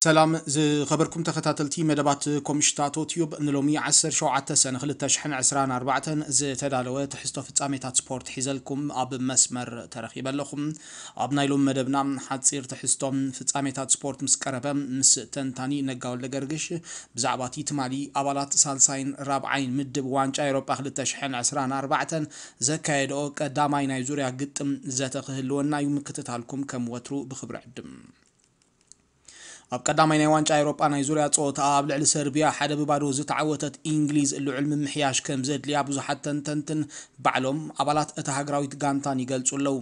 ሰላም ዝኸበርኩም ተኸታተልቲ መደባት ኮምሽታቶ ቲዩብ፣ ንሎሚ ዓሰርተ ሸውዓተ ሰነ ክልተ ሽሕን ዕስራን ኣርባዕተን ዝተዳለወ ትሕዝቶ ፍጻሜታት ስፖርት ሒዘልኩም ኣብ መስመር ተረኺበ ኣለኹም። ኣብ ናይ ሎሚ መደብና ሓጺር ትሕዝቶ ፍጻሜታት ስፖርት ምስ ቀረበ፣ ምስ ተንታኒ ነጋ ወልደገርግሽ ብዛዕባ እቲ ትማሊ ኣባላት ሳልሳይን ራብዓይን ምድብ ዋንጫ ኤውሮጳ ክልተ ሽሕን ዕስራን ኣርባዕተን ዘካየድኦ ቀዳማይ ናይ ዙርያ ግጥም ዘተ ክህልወና እዩ። ምክትታልኩም ከም ወትሩ ብኽብሪ ዕድም። ኣብ ቀዳማይ ናይ ዋንጫ ኤውሮጳ ናይ ዙርያ ጸወታ ኣብ ልዕሊ ሰርቢያ ሓደ ብባዶ ዝተዓወተት ኢንግሊዝ ልዑል ምምሕያሽ ከም ዘድልያ ብዙሓት ተንተንትን ባዕሎም ኣባላት እታ ሃገራዊት ጋንታን ይገልጹ ኣለዉ።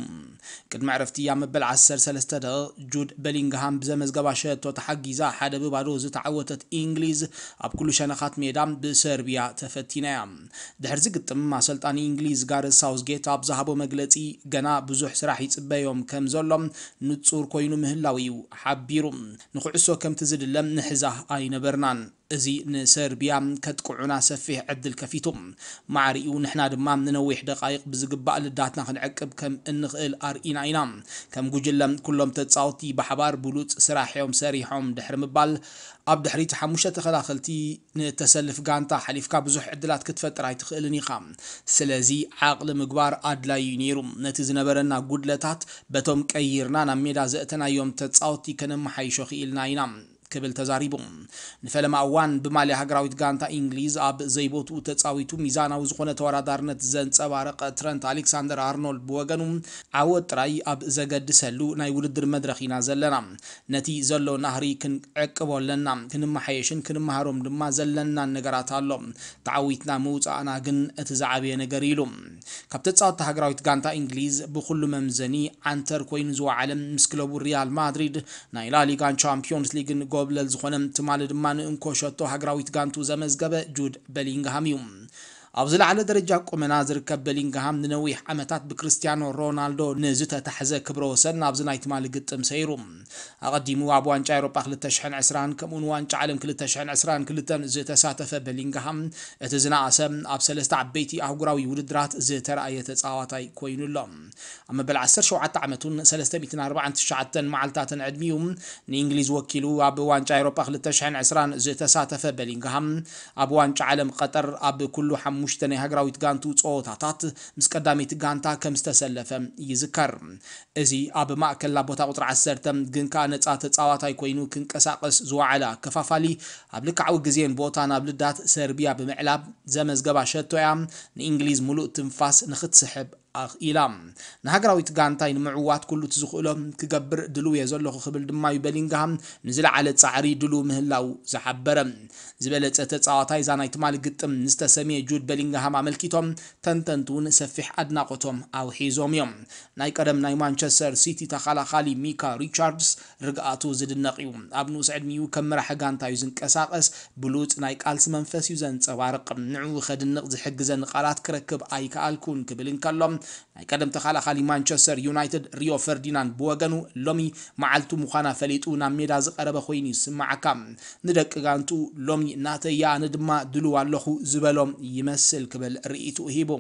ቅድሚ ዕረፍቲ ኣብ መበል ዓሰርተ ሰለስተ ደቂቕ ጁድ በሊንግሃም ብዘመዝገባ ሸቶ ተሓጊዛ ሓደ ብባዶ ዝተዓወተት ኢንግሊዝ ኣብ ኩሉ ሸነኻት ሜዳ ብሰርቢያ ተፈቲና እያ። ድሕርዚ ግጥም ኣሰልጣኒ ኢንግሊዝ ጋረዝ ሳውዝጌት ኣብ ዝሃቦ መግለጺ ገና ብዙሕ ስራሕ ይጽበዮም ከም ዘሎ ንጹር ኮይኑ ምህላው እዩ ሓቢሩ። ንኩዕሶ ከምቲ ዝድለ ንሕዛ ኣይነበርናን። እዚ ንሰርቢያ ከጥቅዑና ሰፊሕ ዕድል ከፊቱ። ማዕሪኡ ንሕና ድማ ንነዊሕ ደቃይቕ ብዝግባእ ልዳትና ክንዕቅብ ከም እንኽእል ኣርኢና ኢና። ከም ጉጅለ ኩሎም ተጻወትቲ ብሓባር ብሉጽ ስራሕ እዮም ሰሪሖም ድሕሪ ምባል ኣብ ድሕሪት ሓሙሽተ ተኸላኸልቲ ንእተሰልፍ ጋንታ ሓሊፍካ ብዙሕ ዕድላት ክትፈጥር ኣይትኽእልን ኢኻ። ስለዚ ዓቕሊ ምግባር ኣድላዩ እዩ ነይሩ። ነቲ ዝነበረና ጉድለታት በቶም ቀይርና ናብ ሜዳ ዘእተናዮም ተጻወትቲ ከነመሓይሾ ክኢልና ኢና ክብል ተዛሪቡ። ንፈለማ እዋን ብማልያ ሃገራዊት ጋንታ ኢንግሊዝ ኣብ ዘይቦትኡ ተጻዊቱ ሚዛናዊ ዝኾነ ተወዳዳርነት ዘንጸባረቐ ትረንት ኣሌክሳንደር ኣርኖልድ ብወገኑ ዓወት ጥራይ ኣብ ዘገድሰሉ ናይ ውድድር መድረኽ ኢና ዘለና። ነቲ ዘሎ ናህሪ ክንዕቅቦ ኣለና። ክንመሓየሽን ክንመሃሮም ድማ ዘለናን ነገራት ኣሎ። ተዓዊትና ምውጻእና ግን እቲ ዝዓበየ ነገር ኢሉ። ካብ ተጻወትቲ ሃገራዊት ጋንታ ኢንግሊዝ ብኹሉ መምዘኒ ዓንተር ኮይኑ ዝወዓለ ምስ ክለቡ ሪያል ማድሪድ ናይ ላሊጋን ቻምፒዮንስ ሊግን ጎብለል ዝኾነ ትማሊ ድማ ንእንኮ ሸቶ ሃገራዊት ጋንቱ ዘመዝገበ ጁድ በሊንግሃም እዩ። ኣብ ዝለዓለ ደረጃ ቁመና ዝርከብ በሊንግሃም ንነዊሕ ዓመታት ብክርስቲያኖ ሮናልዶ ንዝተታሕዘ ክብረ ወሰን ናብዚ ናይ ትማሊ ግጥም ሰይሩ። ኣቐዲሙ ኣብ ዋንጫ ኤውሮጳ ክልተ ሽሕን ዕስራን ከምኡውን ዋንጫ ዓለም ክልተ ሽሕን ዕስራን ክልተን ዝተሳተፈ በሊንግሃም እቲ ዝነኣሰ ኣብ ሰለስተ ዓበይቲ ኣህጉራዊ ውድድራት ዝተረኣየ ተጻዋታይ ኮይኑ ኣሎ። ኣብ መበል ዓሰርተ ሸውዓተ ዓመቱን ሰለስተ ሚእትን ኣርባዓን ትሽዓተን መዓልታትን ዕድሚኡ ንእንግሊዝ ወኪሉ ኣብ ዋንጫ ኤውሮጳ ክልተ ሽሕን ዕስራን ዝተሳተፈ በሊንግሃም ኣብ ዋንጫ ዓለም ቀጠር ኣብ ኩሉ ሓሙሽተ ናይ ሃገራዊት ጋንቱ ጸወታታት ምስ ቀዳመይቲ ጋንታ ከም ዝተሰለፈ ይዝከር። እዚ ኣብ ማእከል ኣብ ቦታ ቁጽሪ ዓሰርተ ግን ከኣ ነጻ ተጻዋታይ ኮይኑ ክንቀሳቐስ ዝወዓለ ኣከፋፋሊ ኣብ ልክዓዊ ግዜን ቦታን ኣብ ልዳት ሰርቢያ ብምዕላብ ዘመዝገባ ሸቶ እያ ንእንግሊዝ ምሉእ ትንፋስ ንኽትስሕብ ኣኽኢላ። ንሃገራዊት ጋንታይ ንምዕዋት ኩሉ እቲ ዝኽእሎ ክገብር ድልው እየ ዘለኹ ክብል ድማ እዩ በሊንግሃም ንዝለዓለ ጻዕሪ ድልው ምህላው ዝሓበረ። ዝበለጸ ተጻዋታይ እዛ ናይ ትማሊ ግጥም ንዝተሰምየ ጁድ በሊንግሃም ኣመልኪቶም ተንተንቲ እውን ሰፊሕ ኣድናቖቶም ኣውሒዞም እዮም። ናይ ቀደም ናይ ማንቸስተር ሲቲ ተኸላኻሊ ሚካ ሪቻርድስ ርግኣቱ ዝድነቕ እዩ። ኣብ ንኡስ ዕድሚኡ ከም መራሒ ጋንታ እዩ ዝንቀሳቐስ። ብሉጽ ናይ ቃልሲ መንፈስ እዩ ዘንጸባርቕ። ንዕኡ ከድንቕ ዝሕግዘኒ ቃላት ክረክብ ኣይከኣልኩን ክብል እንከሎ፣ ናይ ቀደም ተኸላኻሊ ማንቸስተር ዩናይትድ ሪዮ ፈርዲናንድ ብወገኑ ሎሚ መዓልቱ ምዃና ፈሊጡ ናብ ሜዳ ዝቐረበ ኮይኑ ይስምዓካ። ንደቂ ጋንቱ ሎሚ ናተይ እያ ኣነ ድማ ድሉው ኣለኹ ዝበሎም ይመስል ክብል ርእይትኡ ሂቡ።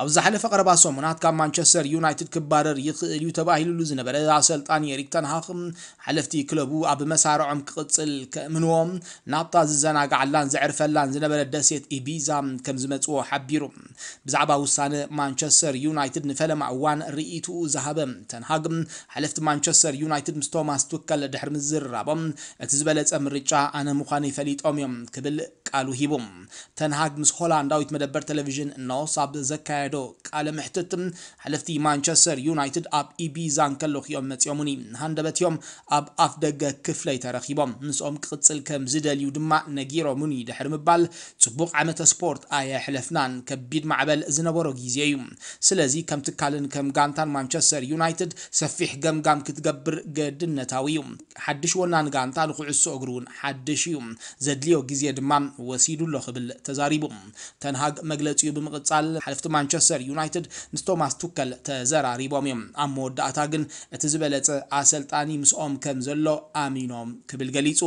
ኣብ ዝሓለፈ ቀረባ ሰሙናት ካብ ማንቸስተር ዩናይትድ ክባረር ይኽእል እዩ ተባሂሉሉ ዝነበረ ኣሰልጣኒ ኤሪክ ተንሃኽ ሓለፍቲ ክለቡ ኣብ መሳርዖም ክቕጽል ከእምንዎ ናብታ ዝዘናግዓላን ዘዕርፈላን ዝነበረ ደሴት ኢቢዛ ከም ዝመጽዎ ሓቢሩ። ብዛዕባ ውሳነ ማንቸስተር ዩናይትድ ንፈለማ እዋን ርእይትኡ ዝሃበ ተንሃግ ሓለፍቲ ማንቸስተር ዩናይትድ ምስ ቶማስ ቱከል ድሕሪ ምዝርራቦም እቲ ዝበለጸ ምርጫ ኣነ ምዃነይ ፈሊጦም እዮም ክብል ቃሉ ሂቡ። ተንሃግ ምስ ሆላንዳዊት መደበር ቴሌቪዥን ኖስ ኣብ ዘካየዶ ቃለ መሕትት ሓለፍቲ ማንቸስተር ዩናይትድ ኣብ ኢቢዛ እንከለኹ እዮም መጺኦሙኒ። ሃንደበት እዮም ኣብ ኣፍ ደገ ክፍለይ ተረኺቦም። ምስኦም ክቕጽል ከም ዝደልዩ ድማ ነጊሮሙኒ ድሕሪ ምባል ጽቡቕ ዓመተ ስፖርት ኣየሕለፍናን ከቢድ ማዕበል ዝነበሮ ግዜ እዩ። ስለዚ ከም ትካልን ከም ጋንታን ማንቸስተር ዩናይትድ ሰፊሕ ገምጋም ክትገብር ገድነታዊ እዩ። ሓድሽ ወናኒ ጋንታ ንኩዕሶ እግሪ እውን ሓድሽ እዩ። ዘድልዮ ግዜ ድማ ወሲዱ ኣሎ ክብል ተዛሪቡ። ተንሃግ መግለጺኡ ብምቕጻል ሓለፍቲ ማንቸስተር ዩናይትድ ምስ ቶማስ ቱከል ተዘራሪቦም እዮም። ኣብ መወዳእታ ግን እቲ ዝበለጸ ኣሰልጣኒ ምስኦም ከም ዘሎ ኣሚኖም ክብል ገሊጹ።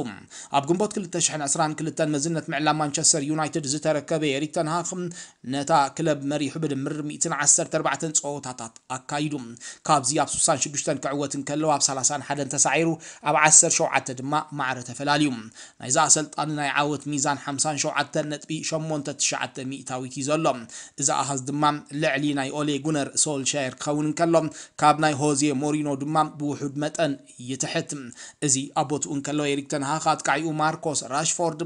ኣብ ግንቦት ክልተ ሽሕን ዕስራን ክልተን መዝነት ምዕላም ማንቸስተር ዩናይትድ ዝተረከበ ኤሪክ ተንሃግ ነታ ክለብ መሪሑ ብድምር ሚእትን ዓሰርተ ኣርባዕተን ጸወታታት ኣካይዱ። ካብዚ ኣብ ስሳን ሽዱሽተን ክዕወት እንከለዉ ኣብ ሰላሳን ሓደን ተሳዒሩ ኣብ ዓሰርተ ሸውዓተ ድማ ማዕረ ተፈላልዩ። ናይዛ ኣሰልጣኒ ናይ ዓወት ሚዛን ሓምሳን ሸውዓተን ነጥቢ ሸሞንተ ትሽዓተ ሚእታዊት እዩ ዘሎ። እዚ ኣሃዝ ድማ ልዕሊ ናይ ኦሌ ጉነር ሶልሻየር ክኸውን እንከሎ ካብ ናይ ሆዜ ሞሪኖ ድማ ብውሑድ መጠን ይትሕት። እዚ ኣብ ቦትኡ እንከሎ ኤሪክ ተንሃግ ኣጥቃዒኡ ማርኮስ ራሽፎርድ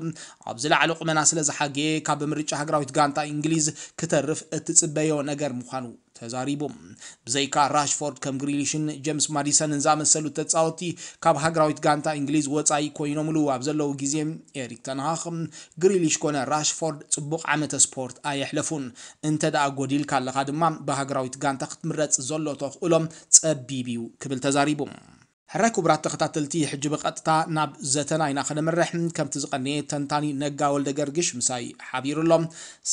ኣብ ዝለዓለ ቁመና ስለ ዝሓገየ ካብ ምርጫ ሃገራዊት ጋንታ እንግሊዝ ክተርፍ እትጽበዮ ነገር ምዃኑ ተዛሪቡ። ብዘይካ ራሽፎርድ ከም ግሪሊሽን ጀምስ ማዲሰንን ዝኣመሰሉ ተጻወትቲ ካብ ሃገራዊት ጋንታ እንግሊዝ ወጻኢ ኮይኖምሉ ኣብ ዘለዉ ግዜ ኤሪክ ተንሃግ ግሪሊሽ ኮነ ራሽፎርድ ጽቡቕ ዓመተ ስፖርት ኣየሕለፉን። እንተ ደኣ ጎዲልካ ኣለኻ ድማ ብሃገራዊት ጋንታ ክትምረጽ ዘሎ ተኽእሎ ጸቢብ እዩ ክብል ተዛሪቡ። ሕራይ ክቡራት ተኸታተልቲ፣ ሕጂ ብቐጥታ ናብ ዘተና ኢና ከነምርሕ። ከምቲ ዝቐነየ ተንታኒ ነጋ ወልደ ገርግሽ ምሳይ ሓቢሩ ኣሎ።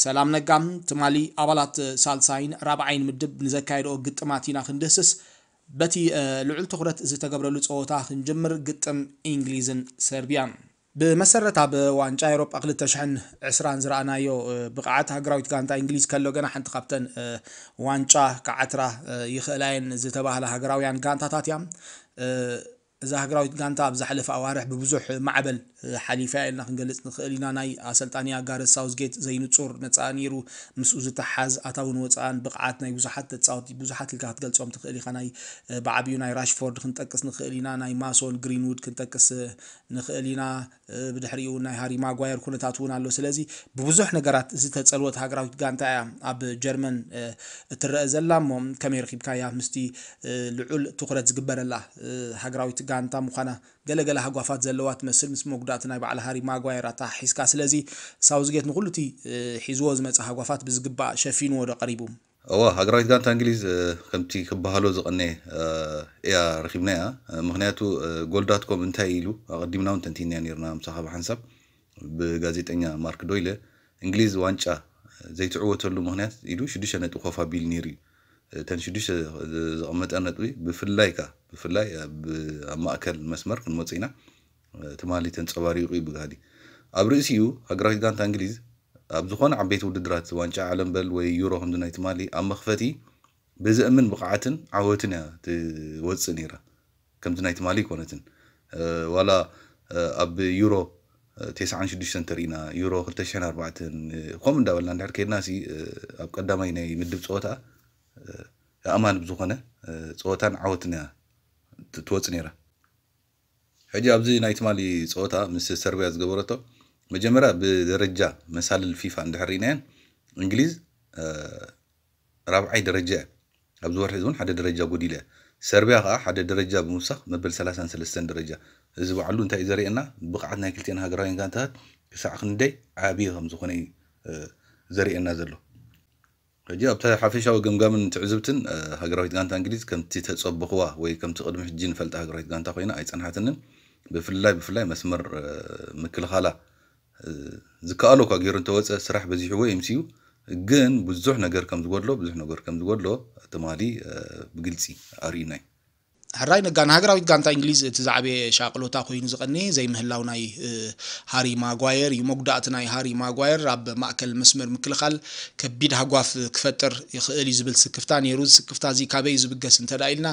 ሰላም ነጋ፣ ትማሊ ኣባላት ሳልሳይን ራብዓይን ምድብ ንዘካየድኦ ግጥማት ኢና ክንድህስስ። በቲ ልዑል ትኹረት ዝተገብረሉ ጸወታ ክንጅምር፣ ግጥም እንግሊዝን ሰርቢያን። ብመሰረት ኣብ ዋንጫ ኤውሮጳ ክልተ ሽሕን ዕስራን ዝረኣናዮ ብቕዓት ሃገራዊት ጋንታ እንግሊዝ ከሎ ገና ሓንቲ ካብተን ዋንጫ ክዓትራ ይኽእላ እየን ዝተባህላ ሃገራውያን ጋንታታት እያ። እዛ ሃገራዊት ጋንታ ኣብ ዝሓለፈ ኣዋርሕ ብብዙሕ ማዕበል ሓሊፋ እያ ኢልና ክንገልጽ ንኽእል ኢና። ናይ ኣሰልጣኒኣ ጋረዝ ሳውዝጌት ዘይንጹር መጻኢ ነይሩ። ምስኡ ዝተሓዝ ኣታውን ወጻእን ብቕዓት ናይ ብዙሓት ተጻወቲ ብዙሓት ኢልካ ክትገልጾም ትኽእል ኢኻ። ናይ ብዓብዩ ናይ ራሽፎርድ ክንጠቅስ ንኽእል ኢና። ናይ ማሶን ግሪንውድ ክንጠቅስ ንኽእል ኢና። ብድሕሪኡ ናይ ሃሪ ማጓየር ኩነታት እውን ኣሎ። ስለዚ ብብዙሕ ነገራት ዝተጸልወት ሃገራዊት ጋንታ እያ ኣብ ጀርመን እትረአ ዘላ። እሞ ከመይ ረኺብካያ? ምስቲ ልዑል ትኹረት ዝግበረላ ሃገራዊት ጋንታ ምዃና ገለገለ ሃጓፋት ዘለዋ ትመስል፣ ምስ መጉዳእቲ ናይ በዓል ሃሪ ማጓየር ኣተሓሒዝካ። ስለዚ ሳውዝጌት ንኹሉ እቲ ሒዝዎ ዝመጸ ሃጓፋት ብዝግባእ ሸፊንዎ ዶ ቀሪቡ? እዋ፣ ሃገራዊት ጋንታ እንግሊዝ ከምቲ ክበሃሎ ዝቐነየ እያ ረኺብናያ። ምኽንያቱ ጎል ዳት ኮም እንታይ ኢሉ፣ ኣቐዲምና እውን ተንቲንያ ነርና ምሳኻ ብሓንሳብ ብጋዜጠኛ ማርክ ዶይለ፣ እንግሊዝ ዋንጫ ዘይትዕወተሉ ምኽንያት ኢሉ ሽዱሽተ ነጥቢ ኮፍ ኣቢሉ ነይሩ እዩ። እተን ሽዱሽተ ዘቐመጠ ነጥቢ ብፍላይ ከኣ ብፍላይ ኣብ ኣብ ማእከል መስመር ክንመጽእ ኢና። ትማሊ ተንጸባሪቑ እዩ ብጋህዲ። ኣብ ርእሲኡ ሃገራዊት ጋንታ እንግሊዝ ኣብ ዝኾነ ዓበይቲ ውድድራት ዋንጫ ዓለም በል ወይ ዩሮ ከምዚ ናይ ትማሊ ኣብ መኽፈቲ ብዘእምን ብቕዓትን ዓወትን እያ ትወጽእ ነይራ። ከምዚ ናይ ትማሊ ኣይኮነትን። ዋላ ኣብ ዩሮ ተስዓን ሽዱሽተን ተርኢና፣ ዩሮ ክልተ ሽሕን ኣርባዕተን ከምኡ እንዳበልና እንድሕር ከይድና ሲ ኣብ ቀዳማይ ናይ ምድብ ጸወታ ኣእማን ብዝኾነ ጸወታን ዓወትን እያ ትወጽእ ነይራ። ሕጂ ኣብዚ ናይ ትማሊ ጸወታ ምስ ሰርቢያ ዝገበረቶ፣ መጀመርያ ብደረጃ መሳልል ፊፋ እንድሕር ርኢናየን፣ እንግሊዝ ራብዓይ ደረጃ እያ። ኣብዚ ወርሒ እዚ እውን ሓደ ደረጃ ጎዲላ እያ። ሰርቢያ ከኣ ሓደ ደረጃ ብምውሳኽ መበል ሰላሳን ሰለስተን ደረጃ። እዚ ባዕሉ እንታይ እዩ ዘርእየና? ብቕዓት ናይ ክልቲኤን ሃገራውያን ጋንታታት ክሳዕ ክንደይ ዓብዪ ከም ዝኾነ እዩ ዘርእየና ዘሎ። ሕጂ ኣብቲ ሓፈሻዊ ገምጋምን ትዕዝብትን ሃገራዊት ጋንታ እንግሊዝ ከምቲ ተጸበኽዋ ወይ ከምቲ ቅድሚ ሕጂ ንፈልጣ ሃገራዊት ጋንታ ኮይና ኣይጸንሓትንን። ብፍላይ ብፍላይ መስመር ምክልኻላ ዝከኣሎ እኳ ገይሩ እንተወፀ ስራሕ በዚሕዎ ይምስዩ፣ ግን ብዙሕ ነገር ከም ዝጎድሎ ብዙሕ ነገር ከም ዝጎድሎ ትማሊ ብግልፂ ኣርእዩናይ። ሕራይ ነጋ፣ ንሃገራዊት ጋንታ እንግሊዝ እቲ ዝዓበየ ሻቕሎታ ኮይኑ ዝቐነየ ዘይምህላው ናይ ሃሪ ማጓየር እዩ። መጉዳእቲ ናይ ሃሪ ማጓየር ኣብ ማእከል መስመር ምክልኻል ከቢድ ሃጓፍ ክፈጥር ይኽእል እዩ ዝብል ስክፍታ ነይሩ። እዚ ስክፍታ እዚ ካበይ እዩ ዝብገስ እንተ ኢልና፣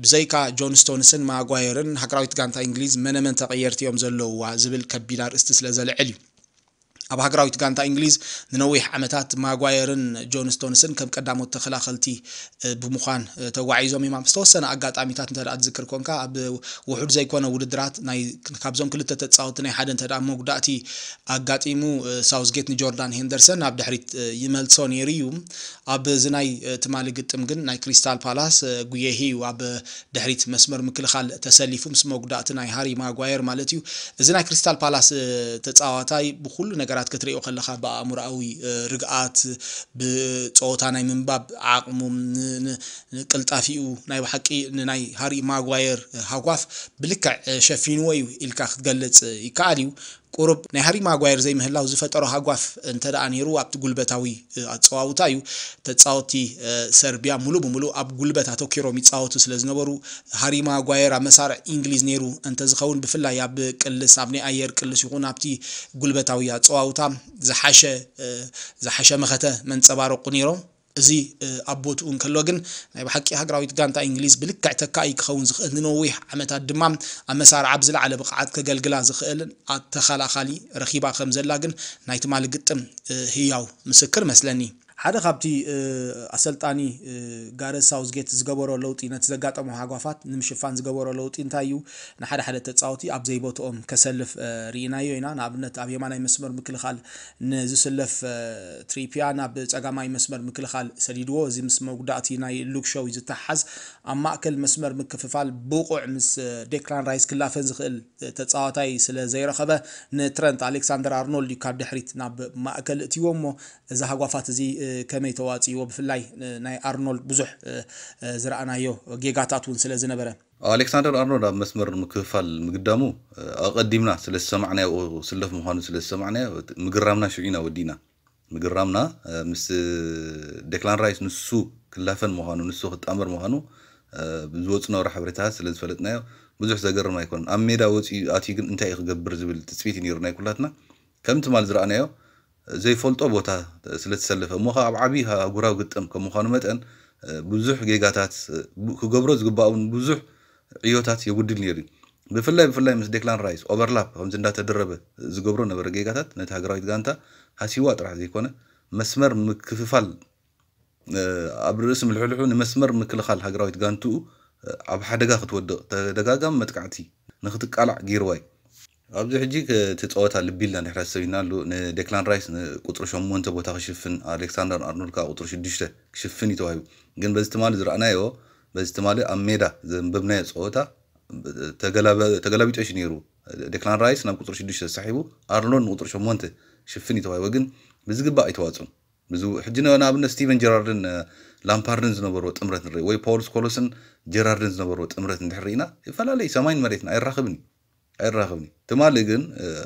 ብዘይካ ጆን ስቶንስን ማጓየርን ሃገራዊት ጋንታ እንግሊዝ መነመን ተቐየርቲ እዮም ዘለውዋ ዝብል ከቢድ ኣርእስቲ ስለ ዘልዕል እዩ። ኣብ ሃገራዊት ጋንታ እንግሊዝ ንነዊሕ ዓመታት ማጓየርን ጆን ስቶንስን ከም ቀዳሞት ተኸላኸልቲ ብምዃን ተጓዒዞም እዮም። ኣብ ዝተወሰነ ኣጋጣሚታት እንተ ትዝክር ኮንካ፣ ኣብ ውሑድ ዘይኮነ ውድድራት ናይ ካብዞም ክልተ ተጻወቲ ናይ ሓደ እንተ መጉዳእቲ ኣጋጢሙ፣ ሳውዝጌት ንጆርዳን ሄንደርሰን ናብ ድሕሪት ይመልሶ ነይሩ እዩ። ኣብ እዚ ናይ ትማሊ ግጥም ግን ናይ ክሪስታል ፓላስ ጉየሂ እዩ ኣብ ድሕሪት መስመር ምክልኻል ተሰሊፉ፣ ምስ መጉዳእቲ ናይ ሃሪ ማጓየር ማለት እዩ። እዚ ናይ ክሪስታል ፓላስ ተጻዋታይ ብኩሉ ነገራት ክትሪኦ ከለኻ፣ ብኣእምሮኣዊ ርግኣት፣ ብጸወታ ናይ ምንባብ ዓቕሙ፣ ን- ን- ንቅልጣፊኡ፣ ናይ ብሓቂ ንናይ ሃሪ ማጓየር ሃጓፍ ብልክዕ ሸፊንዎ እዩ ኢልካ ክትገልጽ ይከኣል እዩ። ቁሩብ ናይ ሃሪ ማጓየር ዘይምህላው ዝፈጠሮ ሃጓፍ እንተ ደኣ ነይሩ ኣብቲ ጉልበታዊ ኣጸዋውታ እዩ። ተጻወትቲ ሰርቢያ ሙሉ ብሙሉ ኣብ ጉልበት ኣተኪሮም ይጻወቱ ስለ ዝነበሩ፣ ሃሪ ማጓየር ኣብ መሳርዕ እንግሊዝ ነይሩ እንተዝኸውን፣ ብፍላይ ኣብ ቅልስ፣ ኣብ ናይ ኣየር ቅልስ ይኹን ኣብቲ ጉልበታዊ ኣጸዋውታ ዝሓሸ ዝሓሸ መኸተ መንጸባረቑ ነይሮም። እዚ ኣብ ቦትኡ እንከሎ ግን፣ ናይ ብሓቂ ሃገራዊት ጋንታ እንግሊዝ ብልክዕ ተካኢ ክኸውን ዝኽእል፣ ንነዊሕ ዓመታት ድማ ኣብ መሳርዓ ብዝለዓለ ብቕዓት ከገልግላ ዝኽእልን ኣተኸላኻሊ ረኺባ ከም ዘላ ግን ናይ ትማሊ ግጥም ህያው ምስክር መስለኒ። ሓደ ካብቲ ኣሰልጣኒ ጋረዝ ሳውዝጌት ዝገበሮ ለውጢ፣ ነቲ ዘጋጠሞ ሃጓፋት ንምሽፋን ዝገበሮ ለውጢ እንታይ እዩ? ንሓደ ሓደ ተጻወቲ ኣብ ዘይቦትኦም ከሰልፍ ርኢናዮ ኢና። ንኣብነት ኣብ የማናይ መስመር ምክልኻል ንዝስለፍ ትሪፒያ ናብ ጸጋማይ መስመር ምክልኻል ሰዲድዎ። እዚ ምስ መጉዳእቲ ናይ ሉክ ሾው እዩ ዝተሓዝ። ኣብ ማእከል መስመር ምክፍፋል ብቑዕ ምስ ዴክላን ራይስ ክላፈን ዝኽእል ተጻዋታይ ስለ ዘይረኸበ፣ ንትረንት ኣሌክሳንደር ኣርኖልድ እዩ ካብ ድሕሪት ናብ ማእከል እትይዎ እሞ፣ እዚ ሃጓፋት እዚ ከመይ ተዋጽእዎ? ብፍላይ ናይ ኣርኖልድ ብዙሕ ዝረኣናዮ ጌጋታት እውን ስለ ዝነበረ። ኣሌክሳንደር ኣርኖልድ ኣብ መስመር ምክፍፋል ምግዳሙ ኣቐዲምና ስለ ዝሰማዕናዮ፣ ክስለፍ ምዃኑ ስለ ዝሰማዕናዮ፣ ምግራምና ሽዑ ኢና ወዲእና። ምግራምና ምስ ዴክላን ራይስ፣ ንሱ ክላፈን ምዃኑ፣ ንሱ ክጣመር ምዃኑ ብዝወፁ ነበሩ ሓበሬታታት ስለ ዝፈለጥናዮ፣ ብዙሕ ዘገርም ኣይኮነን። ኣብ ሜዳ ወፂኡ ኣትዩ ግን እንታይ እዩ ክገብር ዝብል ትፅቢት እዩ ነይሩ ናይ ኩላትና። ከም ትማል ዝረኣናዮ ዘይፈልጦ ቦታ ስለ ዝተሰለፈ፣ እሞ ኸዓ ኣብ ዓብዪ ኣህጉራዊ ግጥም ከም ምዃኑ መጠን፣ ብዙሕ ጌጋታት፣ ክገብሮ ዝግባእ እውን ብዙሕ ዕዮታት የጉድል ነይሩ እዩ። ብፍላይ ብፍላይ ምስ ዴክላን ራይስ ኦቨርላፕ ከምዚ እንዳተደረበ ዝገብሮ ነበረ ጌጋታት፣ ነቲ ሃገራዊት ጋንታ ሃሲዋ ጥራሕ ዘይኮነ፣ መስመር ምክፍፋል ኣብ ርእሲ ምልሕልሑ ንመስመር ምክልኻል ሃገራዊት ጋንትኡ ኣብ ሓደጋ ክትወድቕ፣ ተደጋጋሚ መጥቃዕቲ ንክትቃላዕ ገይርዋ እዩ። ኣብዚ ሕጂ እቲ ጸወታ ልቢ ኢልና እንድሕር ኣሰቢና ኣሉ፣ ንዴክላን ራይስ ንቁጽሪ ሸሞንተ ቦታ ክሽፍን፣ ኣሌክሳንደር ኣርኖልድ ከኣ ቁጽሪ ሽዱሽተ ክሽፍን እዩ ተዋሂቡ። ግን በዚ ትማሊ ዝረኣናዮ፣ በዚ ትማሊ ኣብ ሜዳ ዘንበብናዮ ጸወታ ተገላቢጦሽ ነይሩ። ዴክላን ራይስ ናብ ቁጽሪ ሽዱሽተ ተሳሒቡ፣ ኣርኖልድ ንቁጽሪ ሸሞንተ ክሽፍን እዩ ተዋሂቡ። ግን ብዝግባእ ኣይተዋጽኡን። ብዙ ሕጂ ን-፣ ንኣብነት ስቲቨን ጀራርድን ላምፓርድን ዝነበርዎ ጥምረት ንርኢ፣ ወይ ፓውል ስኮሎስን ጀራርድን ዝነበርዎ ጥምረት እንድሕር ርኢና፣ ይፈላለዩ ሰማይን መሬትን፣ ኣይራኸብን እዩ። ኣይራኸብን እዩ። ትማሊ ግን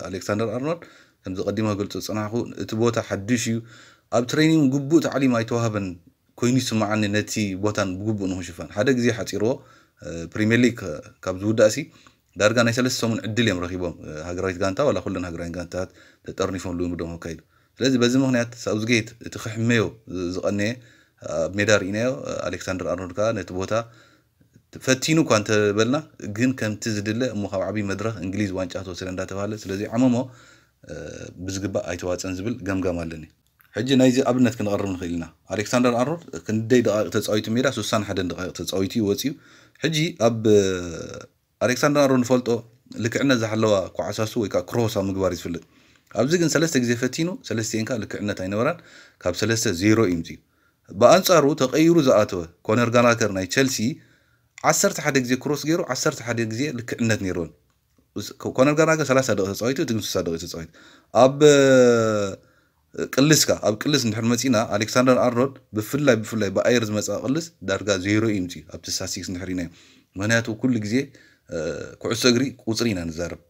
ኣሌክሳንደር ኣርኖልድ፣ ከምዚ ቀዲመ ክገልጾ ዝጸናሕኩ፣ እቲ ቦታ ሓድሽ እዩ። ኣብ ትሬኒንግ ግቡእ ታዕሊም ኣይተዋህበን ኮይኑ ይስምዓኒ፣ ነቲ ቦታን ብግቡእ ንኽሽፈን። ሓደ ግዜ ሓጺርዎ፣ ፕሪምየር ሊግ ካብ ዝውዳእሲ ዳርጋ ናይ ሰለስተ ሰሙን ዕድል እዮም ረኺቦም። ሃገራዊት ጋንታ ዋላ ኩለን ሃገራዊት ጋንታታት ተጠርኒፎም ልምዶም ከካይዱ። ስለዚ በዚ ምኽንያት ሳውዝጌት እቲ ክሕመዮ ዝቐነየ ኣብ ሜዳ ርኢናዮ። ኣሌክሳንደር ኣርኖልድ ከኣ ነቲ ቦታ ፈቲኑ እኳ እንተበልና፣ ግን ከምቲ ዝድለ እሞ ካብ ዓብዪ መድረኽ እንግሊዝ ዋንጫ ተወሰደ እንዳተባሃለ ስለ ዘይዓመሞ፣ ብዝግባእ ኣይተዋፀን ዝብል ገምጋም ኣለኒ። ሕጂ ናይዚ ኣብነት ክንቐርብ ንኽእል ኢና። ኣሌክሳንደር ኣርኖልድ ክንደይ ደቓይቕ ተፃዊቱ ሜዳ? ሱሳን ሓደን ደቓይቕ ተፃዊቱ እዩ ወፂኡ። ሕጂ ኣብ ኣሌክሳንደር ኣርኖልድ ንፈልጦ ልክዕነት ዝሓለዋ ኳዕሳሱ ወይ ከዓ ክሮስ ኣብ ምግባር እዩ ዝፍለጥ። ኣብዚ ግን ሰለስተ ግዜ ፈቲኑ፣ ሰለስቲኤን ከዓ ልክዕነት ኣይነበራን። ካብ ሰለስተ ዜሮ እዩ ምፅኡ። ብኣንፃሩ ተቐይሩ ዝኣተወ ኮነር ጋላገር ናይ ቸልሲ ዓሰርተ ሓደ ግዜ ክሮስ ገይሩ፣ ዓሰርተ ሓደ ግዜ ልክዕነት ነይርዎን። ኮነር ጋላገር ሰላሳ ደቂቕ ተፃዊቱ፣ እቲ ግን ስሳ ደቂቕ ተፃዊቱ። ኣብ ቅልስካ ኣብ ቅልስ እንድሕር መፂና፣ ኣሌክሳንደር ኣርኖልድ ብፍላይ ብፍላይ ብኣየር ዝመፅኣ ቅልስ ዳርጋ ዜሮ እዩ ምፅኡ ኣብቲ ስታስቲክስ እንድሕር ኢናዮ። ምክንያቱ ኩሉ ግዜ ኩዕሶ እግሪ ቁፅሪ ኢና ንዛረብ።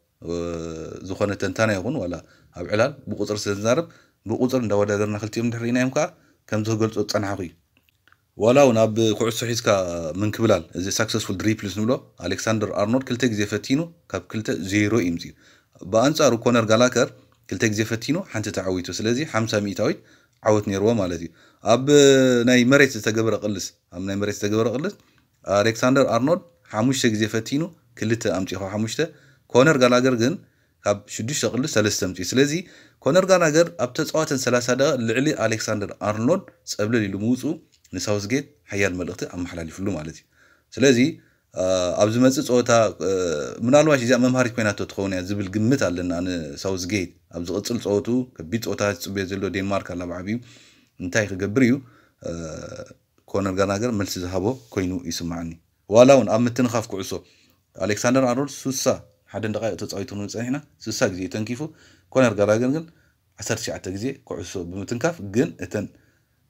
ዝኾነ ተንታና ይኹን ዋላ ኣብ ዕላል ብቁፅሪ ስለ ዝዛረብ፣ ብቁፅሪ እንዳወዳደርና ክልቲኦም እንድሕር ኢናዮም ከዓ ከምዚ ክገልፆ ዝፀናሕኩ እዩ። ዋላ እውን ኣብ ኩዕሶ ሒዝካ ምንክብላል፣ እዚ ሳክሰስፉል ድሪፕልስ ንብሎ፣ ኣሌክሳንደር ኣርኖልድ ክልተ ግዜ ፈቲኑ፣ ካብ ክልተ ዜሮ እዩ ምፅኡ። ብኣንፃሩ ኮነር ጋላከር ክልተ ግዜ ፈቲኑ፣ ሓንቲ ተዓዊቱ። ስለዚ ሓምሳ ሚእታዊት ዓወት ነይርዎ ማለት እዩ። ኣብ ናይ መሬት ዝተገበረ ቅልስ ኣብ ናይ መሬት ዝተገበረ ቅልስ ኣሌክሳንደር ኣርኖልድ ሓሙሽተ ግዜ ፈቲኑ፣ ክልተ ኣምፂኡ፣ ካብ ሓሙሽተ። ኮነር ጋላገር ግን ካብ ሽዱሽተ ቅልስ ሰለስተ ኣምፂኡ። ስለዚ ኮነር ጋላገር ኣብ ተፃወተን ሰላሳ ደቂቕ ልዕሊ ኣሌክሳንደር ኣርኖልድ ፀብለል ኢሉ ምውፅኡ ንሳውዝጌት ሓያል መልእኽቲ ኣመሓላሊፍሉ ማለት እዩ። ስለዚ ኣብ ዝመፅእ ፀወታ ምናልባሽ እዚኣ መምሃሪት ኮይናቶ ትኸውን እያ ዝብል ግምት ኣለና ንሳውዝጌት። ኣብ ዝቕፅል ፀወቱ ከቢድ ፀወታ ዝፅበዮ ዘሎ ዴንማርክ ኣላ ብዓብዩ። እንታይ ክገብር እዩ ኮነር ጋላገር መልሲ ዝሃቦ ኮይኑ ይስማዓኒ። ዋላ እውን ኣብ ምትንኻፍ ኩዕሶ ኣሌክሳንደር ኣርኖልድ ሱሳ ሓደን ደቃይቕ ተፃዊቱ ክንብል ፀኒሕና፣ ሱሳ ግዜ እዩ ተንኪፉ። ኮነር ጋላገር ግን ዓሰርተ ትሽዓተ ግዜ ኩዕሶ ብምትንካፍ ግን እተን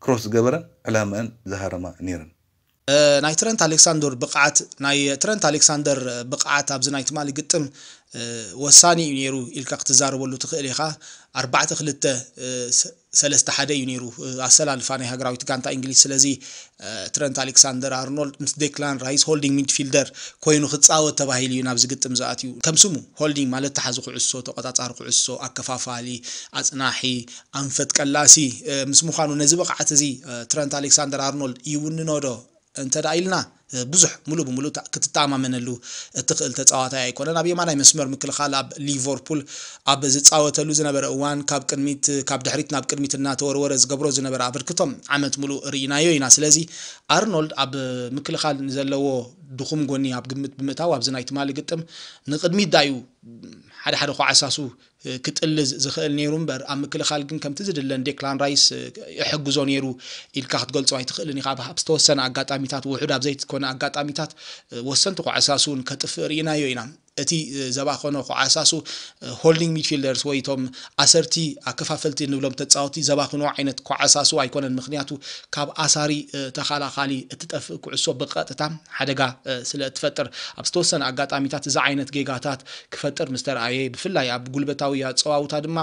ክሮስ ዝገበረን ዕላማአን ዝሃረማ ነይረን። ናይ ትረንት ኣሌክሳንደር ብቕዓት ናይ ትረንት ኣሌክሳንደር ብቕዓት ኣብዚ ናይ ትማሊ ግጥም ወሳኒ እዩ ነይሩ ኢልካ ክትዛረበሉ ትኽእል ኢኻ። ኣርባዕተ ክልተ ሰለስተ ሓደ እዩ ነይሩ ኣሰላልፋ ናይ ሃገራዊት ጋንታ እንግሊዝ። ስለዚ ትረንት ኣሌክሳንደር ኣርኖልድ ምስ ዴክላን ራይስ ሆልዲንግ ሚድፊልደር ኮይኑ ክፃወት ተባሂሉ እዩ ናብዚ ግጥም ዝኣትዩ። ከም ስሙ ሆልዲንግ ማለት ተሓዚ ኩዕሶ፣ ተቆፃፃሪ ኩዕሶ፣ ኣከፋፋሊ፣ ኣፅናሒ፣ ኣንፈት ቀላሲ ምስ ምዃኑ ነዚ ብቕዓት እዚ ትረንት ኣሌክሳንደር ኣርኖልድ ይውንኖ ዶ እንተ ደኣ ኢልና ብዙሕ ሙሉ ብሙሉ ክትተኣማመነሉ እትኽእል ተፃዋታይ ኣይኮነን። ኣብ የማናይ መስመር ምክልኻል ኣብ ሊቨርፑል ኣብ ዝፃወተሉ ዝነበረ እዋን ካብ ቅድሚት ካብ ድሕሪት ናብ ቅድሚት እናተወርወረ ዝገብሮ ዝነበረ ኣበርክቶ ዓመት ሙሉ ርኢናዮ ኢና። ስለዚ ኣርኖልድ ኣብ ምክልኻል ንዘለዎ ድኹም ጎኒ ኣብ ግምት ብምእታው ኣብዚ ናይ ትማሊ ግጥም ንቅድሚት ዳዩ ሓደ ሓደ ኳዕሳሱ ክጥልዝ ዝኽእል ነይሩ እምበር ኣብ ምክልኻል ግን ከምቲ ዝድለን ዴክላን ራይስ ይሕግዞ ነይሩ ኢልካ ክትገልጾ ኣይትኽእልን ኢኻ። ኣብ ዝተወሰነ ኣጋጣሚታት ውሑድ ኣብ ዘይኮነ ኣጋጣሚታት ወሰንቲ ኳዕሳሱ እውን ከጥፍእ ርኢናዮ ኢና። እቲ ዘባኸኖ ኳዕሳሱ ሆልዲንግ ሚድፊልደርስ ወይ እቶም ኣሰርቲ ኣከፋፈልቲ እንብሎም ተፃወቲ ዘባኽኖ ዓይነት ኳዕሳሱ ኣይኮነን። ምክንያቱ ካብ ኣሳሪ ተኸላኻሊ እትጠፍእ ኩዕሶ ብቐጥታ ሓደጋ ስለ እትፈጥር ኣብ ዝተወሰነ ኣጋጣሚታት እዚ ዓይነት ጌጋታት ክፈጥር ምስ ተረኣየ ብፍላይ ኣብ ጉልበታዊ ኣፀዋውታ ድማ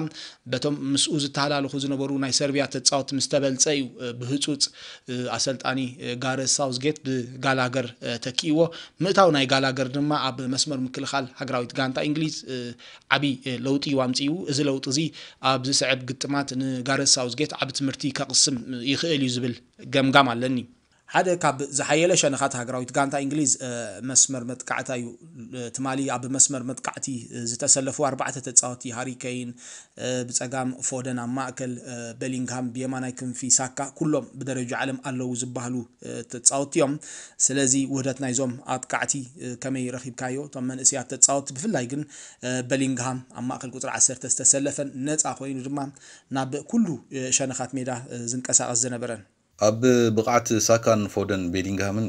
በቶም ምስኡ ዝተሃላለኹ ዝነበሩ ናይ ሰርቢያ ተፃወቲ ምስ ተበልፀ እዩ ብህፁፅ ኣሰልጣኒ ጋረዝ ሳውዝጌት ብጋላገር ተኪእዎ። ምእታው ናይ ጋላገር ድማ ኣብ መስመር ምክልኻል ሃገራዊት ጋንታ እንግሊዝ ዓብዪ ለውጢ እዩ ኣምፅኡ። እዚ ለውጢ እዚ ኣብ ዝስዕብ ግጥማት ንጋረዝ ሳውዝጌት ዓቢ ትምህርቲ ከቕስም ይኽእል እዩ ዝብል ገምጋም ኣለኒ። ሓደ ካብ ዝሓየለ ሸነኻት ሃገራዊት ጋንታ እንግሊዝ መስመር መጥቃዕታ እዩ። ትማሊ ኣብ መስመር መጥቃዕቲ ዝተሰለፉ ኣርባዕተ ተፃወቲ ሃሪ ኬን ብፀጋም፣ ፎደን ኣብ ማእከል፣ ቤሊንግሃም ብየማናይ ክንፊ፣ ሳካ ኩሎም ብደረጃ ዓለም ኣለዉ ዝበሃሉ ተፃወቲ እዮም። ስለዚ ውህደት ናይዞም ኣጥቃዕቲ ከመይ ረኺብካዮ? እቶም መንእሰያት ተፃወቲ ብፍላይ ግን ቤሊንግሃም ኣብ ማእከል ቁፅሪ ዓሰርተ ዝተሰለፈን ነፃ ኮይኑ ድማ ናብ ኩሉ ሸነኻት ሜዳ ዝንቀሳቐስ ዝነበረን ኣብ ብቕዓት ሳካን ፎደን ቤሊንግሃምን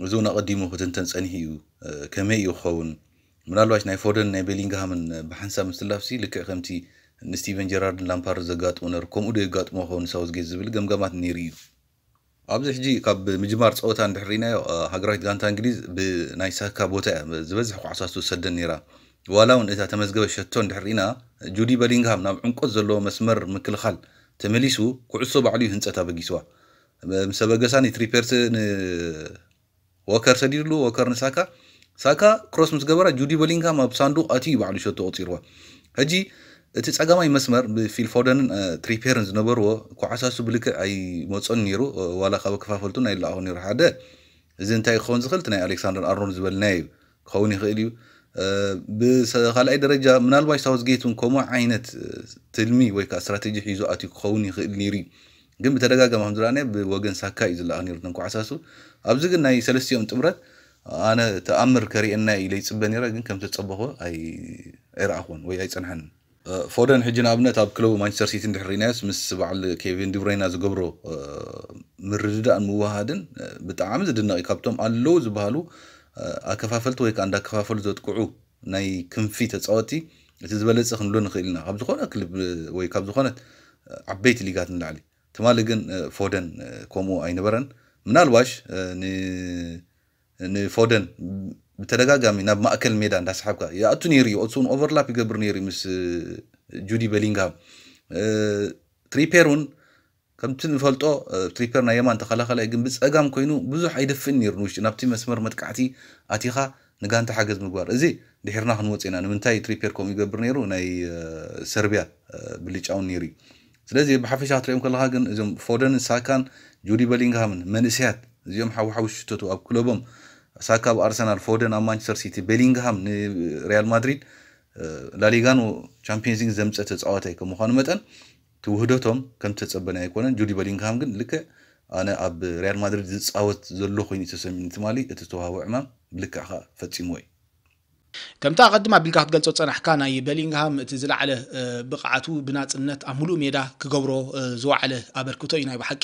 እዚ እውን ኣቐዲሙ ክትንተን ጸኒሑ እዩ። ከመይ እዩ ክኸውን? ምናልባሽ ናይ ፎደን ናይ ቤሊንግሃምን ብሓንሳብ ምትላፍሲ ልክዕ ከምቲ ንስቲቨን ጀራርድን ላምፓርድ ዘጋጥሞ ነሩ ከምኡ ዶ የጋጥሞ ክኸውን ሳውዝጌት ዝብል ገምጋማት ነይሩ እዩ። ኣብዚ ሕጂ ካብ ምጅማር ጸወታ እንድሕር ርኢናዮ ሃገራዊት ጋንታ እንግሊዝ ብናይ ሳካ ቦታ እያ ዝበዝሕ ኳዕሳሱ ትሰደን ነይራ። ዋላ እውን እታ ተመዝገበ ሸቶ እንድሕር ርኢና ጁዲ በሊንግሃም ናብ ዕምቆት ዘለዎ መስመር ምክልኻል ተመሊሱ ኩዕሶ ባዕሉ እዩ ህንጸት ኣበጊስዋ። ምስ ኣበገሳ ንትሪፔርስ ንወከር ሰዲድሉ ወከር ንሳካ ሳካ ክሮስ ምስ ገበራ ጁዲ በሊንግሃም ኣብ ሳንዱቕ ኣትዩ ባዕሉ ሸቶ ቆጺርዋ። ሕጂ እቲ ጸጋማይ መስመር ብፊል ፎደንን ትሪፔርን ዝነበርዎ ኳዕሳሱ ብልክዕ ኣይመጾን ነይሩ። ዋላ ካብ ኣከፋፈልቱን ኣይለኣኹ ነይሩ ሓደ እዚ እንታይ ክኸውን ዝኽእል እቲ ናይ ኣሌክሳንደር ኣርኖልድ ዝበልናዮ እዩ ክኸውን ይኽእል እዩ። ብካልኣይ ደረጃ ምናልባሽ ሳውዝጌት እውን ከምኡ ዓይነት ትልሚ ወይ ከዓ ስትራቴጂ ሒዙ ኣትዩ ክኸውን ይኽእል ነይሩ እዩ። ግን ብተደጋጋሚ ከም ዝረኣናዮ ብወገን ሳካ እዩ ዝለኣኽ ነይሩ እተን ኳዕሳሱ። ኣብዚ ግን ናይ ሰለስቲኦም ጥምረት ኣነ ተኣምር ከርእየና ኢለ ይፅበ ነይረ፣ ግን ከም ተፀበኹ ኣይረኣኹን ወይ ኣይፀንሐንን። ፎደን ሕጂ ንኣብነት ኣብ ክለቡ ማንቸስተር ሲቲ እንድሕር ርኢናዮስ ምስ በዓል ኬቪን ዲብሮይና ዝገብሮ ምርድዳእን ምውሃድን ብጣዕሚ ዝድነቕ እዩ። ካብቶም ኣለዉ ዝበሃሉ ኣከፋፈልቲ ወይ ከዓ እንዳከፋፈሉ ዘጥቅዑ ናይ ክንፊ ተፃወቲ እቲ ዝበለፀ ክንብሎ ንኽእል ኢና ካብ ዝኾነ ክልብ ወይ ካብ ዝኾነት ዓበይቲ ሊጋት ንላዕሊ። ትማሊ ግን ፎደን ከምኡ ኣይነበረን። ምናልባሽ ንፎደን ብተደጋጋሚ ናብ ማእከል ሜዳ እንዳሰሓብካ ይኣቱ ነይሩ እዩ። እሱ እውን ኦቨርላፕ ይገብር ነይሩ እዩ ምስ ጁዲ በሊንግሃም። ትሪፔር እውን ከምቲ ንፈልጦ ትሪፔር ናይ የማን ተኸላኸላይ ግን ብፀጋም ኮይኑ ብዙሕ ኣይደፍእን ነይሩ ንውሽጢ ናብቲ መስመር መጥቃዕቲ ኣቲኻ ንጋንታ ሓገዝ ምግባር። እዚ ድሒርና ክንወፅ ኢና። ንምንታይ ትሪፔር ከምኡ ይገብር ነይሩ ናይ ሰርቢያ ብልጫውን ነይሩ እዩ። ስለዚ ብሓፈሻ ክትሪኦም ከለኻ ግን እዞም ፎደንን ሳካን ጁዲ በሊንግሃምን መንእሰያት እዚኦም ሓውሓው ሽተቱ ኣብ ክለቦም ሳካ ኣብ ኣርሰናል፣ ፎደን ኣብ ማንቸስተር ሲቲ፣ ቤሊንግሃም ንሪያል ማድሪድ ላሊጋን ቻምፒየንስ ሊግ ዘምፀ ተፃዋታይ ከም ምዃኑ መጠን እቲ ውህደቶም ከም ተፀበናዮ ኣይኮነን። ጁዲ በሊንግሃም ግን ልክዕ ኣነ ኣብ ሪያል ማድሪድ ዝፃወት ዘሎ ኮይኑ እዩ ተሰሚዑኒ ትማሊ። እቲ ዝተዋህቦ ዕማም ብልክዕ ከዓ ፈፂምዎ እዩ። ከምቲ ኣቐድም ኣቢልካ ክትገልጾ ዝጸናሕካ ናይ በሊንግሃም እቲ ዝለዓለ ብቕዓቱ ብናጽነት ኣብ ምሉእ ሜዳ ክገብሮ ዝወዓለ ኣበርክቶ እዩ ናይ ብሓቂ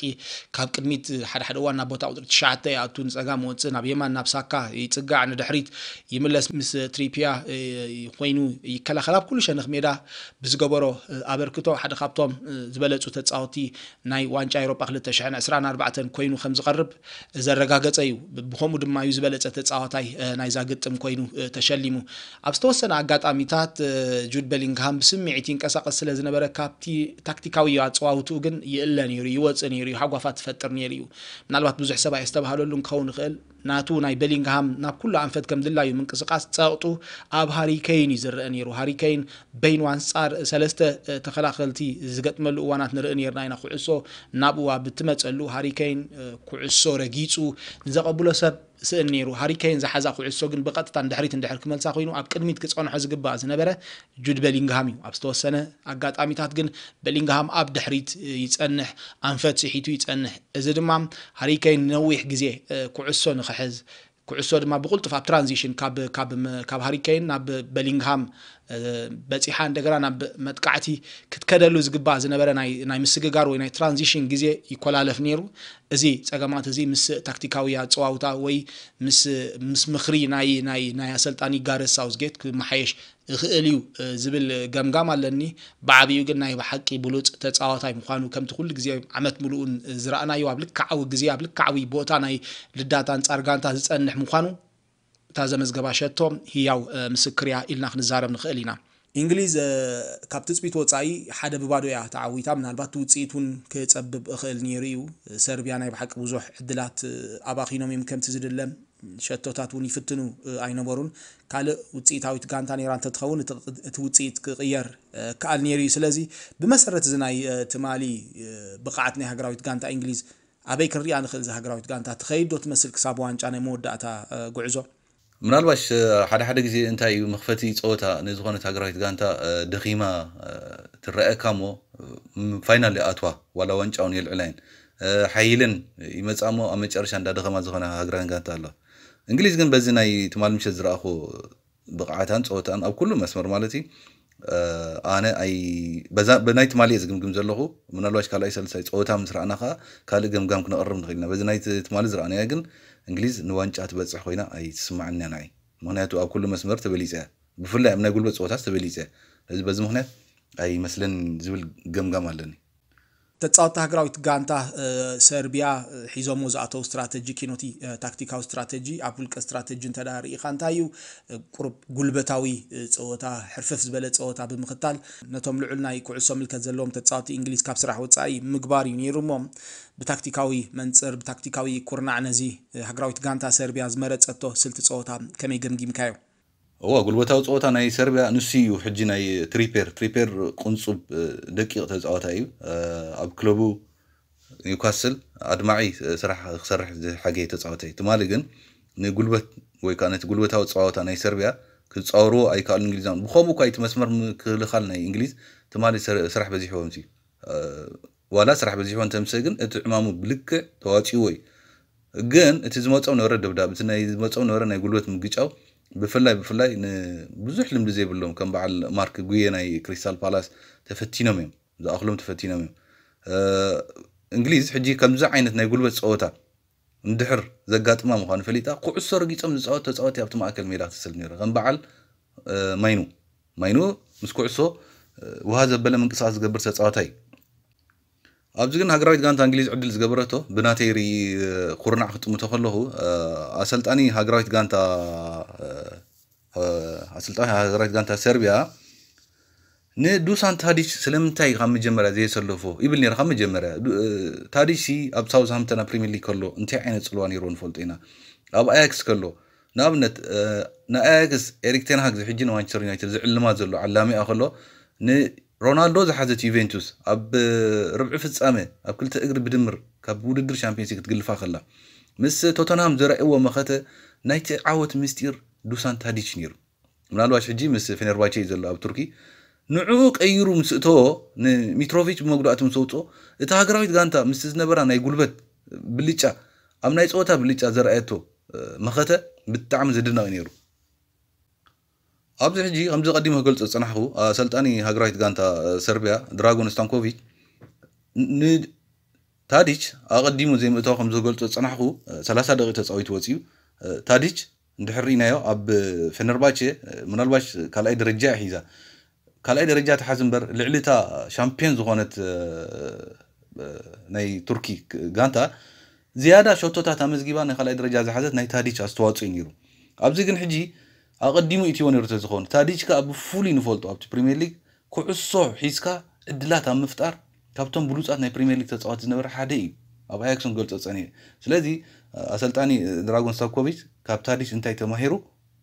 ካብ ቅድሚት ሓደ ሓደ እዋን ናብ ቦታ ቁጽሪ ትሽዓተ ይኣቱ፣ ንጸጋም ወጽእ፣ ናብ የማን ናብ ሳካ ይጽጋዕ፣ ንድሕሪት ይምለስ፣ ምስ ትሪፒያ ኮይኑ ይከላኸል። ኣብ ኩሉ ሸነኽ ሜዳ ብዝገበሮ ኣበርክቶ ሓደ ካብቶም ዝበለጹ ተጻወቲ ናይ ዋንጫ ኤውሮጳ ክልተ ሽሕን ዕስራን ኣርባዕተን ኮይኑ ከም ዝቐርብ ዘረጋገጸ እዩ። ብኸምኡ ድማ እዩ ዝበለጸ ተጻዋታይ ናይዛ ግጥም ኮይኑ ተሸሊሙ። ኣብ ዝተወሰነ ኣጋጣሚታት ጁድ ቤሊንግሃም ብስምዒት ይንቀሳቐስ ስለ ዝነበረ፣ ካብቲ ታክቲካዊ ኣጸዋውትኡ ግን ይእለ ነይሩ፣ ይወጽእ ነይሩ፣ ሃጓፋት ይፈጥር ነይሩ እዩ። ምናልባት ብዙሕ ሰብ ኣየስተብሃለሉን ክኸውን ይኽእል። ናቱ ናይ ቤሊንግሃም ናብ ኩሉ ኣንፈት ከም ድላዩ ምንቅስቓስ ጸቕጡ ኣብ ሃሪ ኬይን እዩ ዝረአ ነይሩ። ሃሪ ኬይን በይኑ ኣንጻር ሰለስተ ተኸላኸልቲ ዝገጥመሉ እዋናት ንርኢ ነይርና ኢና። ኩዕሶ ናብኡ ኣብ እትመጸሉ ሃሪ ኬይን ኩዕሶ ረጊጹ ንዘቐብሎ ሰብ ስእን ነይሩ። ሃሪ ኬይን ዝሓዛ ኩዕሶ ግን ብቐጥታ ንድሕሪት እንድሕር ክመልሳ ኮይኑ ኣብ ቅድሚት ክጸንሖ ዝግባእ ዝነበረ ጁድ ቤሊንግሃም እዩ። ኣብ ዝተወሰነ ኣጋጣሚታት ግን ቤሊንግሃም ኣብ ድሕሪት ይጸንሕ፣ ኣንፈት ስሒቱ ይጸንሕ። እዚ ድማ ሃሪ ኬይን ነዊሕ ግዜ ኩዕሶ ንክሕዝ፣ ኩዕሶ ድማ ብቕልጡፍ ኣብ ትራንዚሽን ካብ ካብ ካብ ሃሪ ኬይን ናብ ቤሊንግሃም በፂሓ እንደገና ናብ መጥቃዕቲ ክትከደሉ ዝግባእ ዝነበረ ናይ ናይ ምስግጋር ወይ ናይ ትራንዚሽን ግዜ ይኮላለፍ ነይሩ። እዚ ጸገማት እዚ ምስ ታክቲካዊ ኣጸዋውታ ወይ ምስ ምስ ምኽሪ ናይ ናይ ናይ ኣሰልጣኒ ጋረስ ሳውዝጌት ክመሓየሽ ይኽእል እዩ ዝብል ገምጋም ኣለኒ። ብዓብዩ ግን ናይ ብሓቂ ብሉጽ ተጻዋታይ ምዃኑ ከምቲ ኩሉ ግዜ ዓመት ምሉኡን ዝረኣናዮ ኣብ ልክዓዊ ግዜ ኣብ ልክዓዊ ቦታ ናይ ልዳት ኣንጻር ጋንታ ዝጸንሕ ምዃኑ እታ ዘመዝገባ ሸቶ ህያው ምስክር እያ ኢልና ክንዛረብ ንኽእል ኢና። እንግሊዝ ካብ ትጽቢት ወጻኢ ሓደ ብባዶ እያ ተዓዊታ። ምናልባት ውጽኢት እውን ክጸብብ እኽእል ነይሩ እዩ። ሰርቢያ ናይ ብሓቂ ብዙሕ ዕድላት ኣባኺኖም እዮም ከምቲ ዝድለ ሸቶታት እውን ይፍትኑ ኣይነበሩን። ካልእ ውፅኢታዊት ጋንታ ነይራ እንተትኸውን እቲ ውፅኢት ክቕየር ክኣል ነይሩ እዩ። ስለዚ ብመሰረት እዚ ናይ ትማሊ ብቕዓት ናይ ሃገራዊት ጋንታ እንግሊዝ ኣበይ ክንሪኣ ንኽእል? እዛ ሃገራዊት ጋንታ ትኸይድ ዶ ትመስል ክሳብ ዋንጫ ናይ መወዳእታ ጉዕዞ? ምናልባሽ ሓደ ሓደ ግዜ እንታይ እዩ መኽፈቲ ፀወታ ንዝኾነት ሃገራዊት ጋንታ ደኺማ ትረአካ እሞ ፋይናል ኣትዋ ዋላ ዋንጫ እውን የልዕላ እየን ሓይልን ይመፃ እሞ ኣብ መጨረሻ እንዳደኸማ ዝኾነ ሃገራን ጋንታ ኣለዋ። እንግሊዝ ግን በዚ ናይ ትማል ምሸት ዝረኣኹ ብቕዓታን ፀወታን ኣብ ኩሉ መስመር ማለት እዩ ኣነ ኣይ በዛ ብናይ ትማሊ እየ ዝግምግም ዘለኹ። ምናልባሽ ካልኣይ ሳልሳይ ፀወታ ምስ ረኣና ከዓ ካልእ ገምጋም ክነቕርብ ንኽእል ኢና። በዚ ናይ ትማሊ ዝረኣናያ ግን እንግሊዝ ንዋንጫ ትበፅሕ ኮይና ኣይትስማዓንያ ንዓይ። ምክንያቱ ኣብ ኩሉ መስመር ተበሊፀ እያ። ብፍላይ ኣብ ናይ ጉልበት ፀወታስ ተበሊፀ እያ። ስለዚ በዚ ምክንያት ኣይመስለን ዝብል ገምጋም ኣለኒ። ተፃወቲ ሃገራዊት ጋንታ ሰርቢያ ሒዞሞ ዝኣተው ስትራተጂ ኪኖቲ ታክቲካዊ ስትራተጂ ኣብ ውልቀ ስትራተጂ እንተ ርኢኻ እንታይ እዩ ቁሩብ ጉልበታዊ ፀወታ ሕርፍፍ ዝበለ ፀወታ ብምኽታል ነቶም ልዑል ናይ ኩዕሶ ምልከት ዘለዎም ተፃወቲ እንግሊዝ ካብ ስራሕ ወፃኢ ምግባር እዩ ነይሩ እሞ ብታክቲካዊ መንፅር ብታክቲካዊ ኩርናዕ ነዚ ሃገራዊት ጋንታ ሰርቢያ ዝመረፀቶ ስልቲ ፀወታ ከመይ ገምጊምካዮ? እዋ ጉልበታዊ ፀወታ ናይ ሰርቢያ ንሱ እዩ ሕጂ ናይ ትሪፔር ትሪፔር ቁንፁብ ደቂቕ ተፃዋታይ እዩ ኣብ ክለቡ ኒውካስል ኣድማዒ ስራሕ ክሰርሕ ዝሓገየ ተፃዋታይ ትማሊ ግን ንጉልበት ወይ ከዓ ነቲ ጉልበታዊ ፀዋታ ናይ ሰርቢያ ክፃወርዎ ኣይከኣሉ እንግሊዛን ብከምኡ እኳ እቲ መስመር ምክልኻል ናይ እንግሊዝ ትማሊ ስራሕ በዚሕዎም እዩ ዋላ ስራሕ በዚሕዎ እንተምሰ ግን እቲ ዕማሙ ብልክዕ ተዋፂዎ እዩ ግን እቲ ዝመፆም ነበረ ደብዳብ እቲ ናይ ዝመፆም ነበረ ናይ ጉልበት ምግጫው ብፍላይ ብፍላይ ንብዙሕ ልምዲ ዘይብሎም ከም በዓል ማርክ ጉየ ናይ ክሪስታል ፓላስ ተፈቲኖም እዮም ዝኣኽሎም ተፈቲኖም እዮም እንግሊዝ ሕጂ ከምዚ ዓይነት ናይ ጉልበት ፀወታ እንድሕር ዘጋጥማ ምዃኑ ፈሊጣ ኩዕሶ ረጊፆም ዝፃወት ተፃወቲ ኣብቲ ማእከል ሜዳ ክትስል ነይሩ ከም በዓል ማይኑ ማይኑ ምስ ኩዕሶ ውሃ ዘበለ ምንቅስቃስ ዝገብር ተፃዋታይ ኣብዚ ግን ሃገራዊት ጋንታ እንግሊዝ ዕድል ዝገበረቶ ብናተይ ርኢ ኩርናዕ ክጥምቶ ከለኹ ኣሰልጣኒ ሃገራዊት ጋንታ ኣሰልጣኒ ሃገራዊት ጋንታ ሰርቢያ ንዱሳን ታዲች ስለምንታይ ካብ መጀመርያ ዘየሰለፎ ይብል ነይረ ካብ መጀመርያ ታዲች ሲ ኣብ ሳውዝሃምተን ኣብ ፕሪሚየር ሊግ ከሎ እንታይ ዓይነት ፅልዋ ነይርዎ ንፈልጦ ኢና ኣብ ኣያክስ ከሎ ንኣብነት ንኣያክስ ኤሪክ ቴንሃግ ዝሕጂ ንማንቸስተር ዩናይትድ ዝዕልማ ዘሎ ዓላሚኣ ከሎ ሮናልዶ ዝሓዘት ዩቬንቱስ ኣብ ርብዒ ፍጻመ ኣብ ክልተ እግሪ ብድምር ካብ ውድድር ሻምፒዮንስ ሊግ ክትግልፋ ከላ ምስ ቶተንሃም ዘርኣይዎ መኸተ ናይቲ ዓወት ምስጢር ዱሳን ታዲች ነይሩ። ምናልባሽ ሕጂ ምስ ፌነርባቼ እዩ ዘሎ ኣብ ቱርኪ። ንዕኡ ቀይሩ ምስ እተዎ ንሚትሮቪች ብመጉዳእቲ ምስ ኣውፅኦ እታ ሃገራዊት ጋንታ ምስቲ ዝነበራ ናይ ጉልበት ብልጫ ኣብ ናይ ፀወታ ብልጫ ዘርኣየቶ መኸተ ብጣዕሚ ዝድነቕ እዩ ነይሩ። ኣብዚ ሕጂ ከምዚ ቀዲሙ ክገልጾ ዝጸናሕኩ ኣሰልጣኒ ሃገራዊት ጋንታ ሰርቢያ ድራጎን ስታንኮቪች ንታዲች ኣቐዲሙ ዘይምእታው ከም ዝገልጾ ዝጸናሕኩ ሰላሳ ደቂቕ ተጻዊቱ ወጺኡ ታዲች እንድሕር ርኢናዮ ኣብ ፌነርባቼ ምናልባሽ ካልኣይ ደረጃ እያ ሒዛ ካልኣይ ደረጃ ትሓዝ እምበር ልዕሊ እታ ሻምፒዮን ዝኾነት ናይ ቱርኪ ጋንታ ዝያዳ ሸቶታት ኣመዝጊባ ናይ ካልኣይ ደረጃ ዝሓዘት ናይ ታዲች ኣስተዋፅኦ እዩ ነይሩ ኣብዚ ግን ሕጂ ኣቐዲሙ ኢትዮ ነሩ ተዝኸውን፣ ታዲች ከኣ ብፍሉይ ንፈልጦ ኣብቲ ፕሪምየር ሊግ ኩዕሶ ሒዝካ ዕድላት ኣብ ምፍጣር ካብቶም ብሉጻት ናይ ፕሪምየር ሊግ ተጻወቲ ዝነበረ ሓደ እዩ። ኣብ ኣያክስ ንገልጾ ጸኒሐ። ስለዚ ኣሰልጣኒ ድራጎን ስታኮቪች ካብ ታዲች እንታይ ተማሂሩ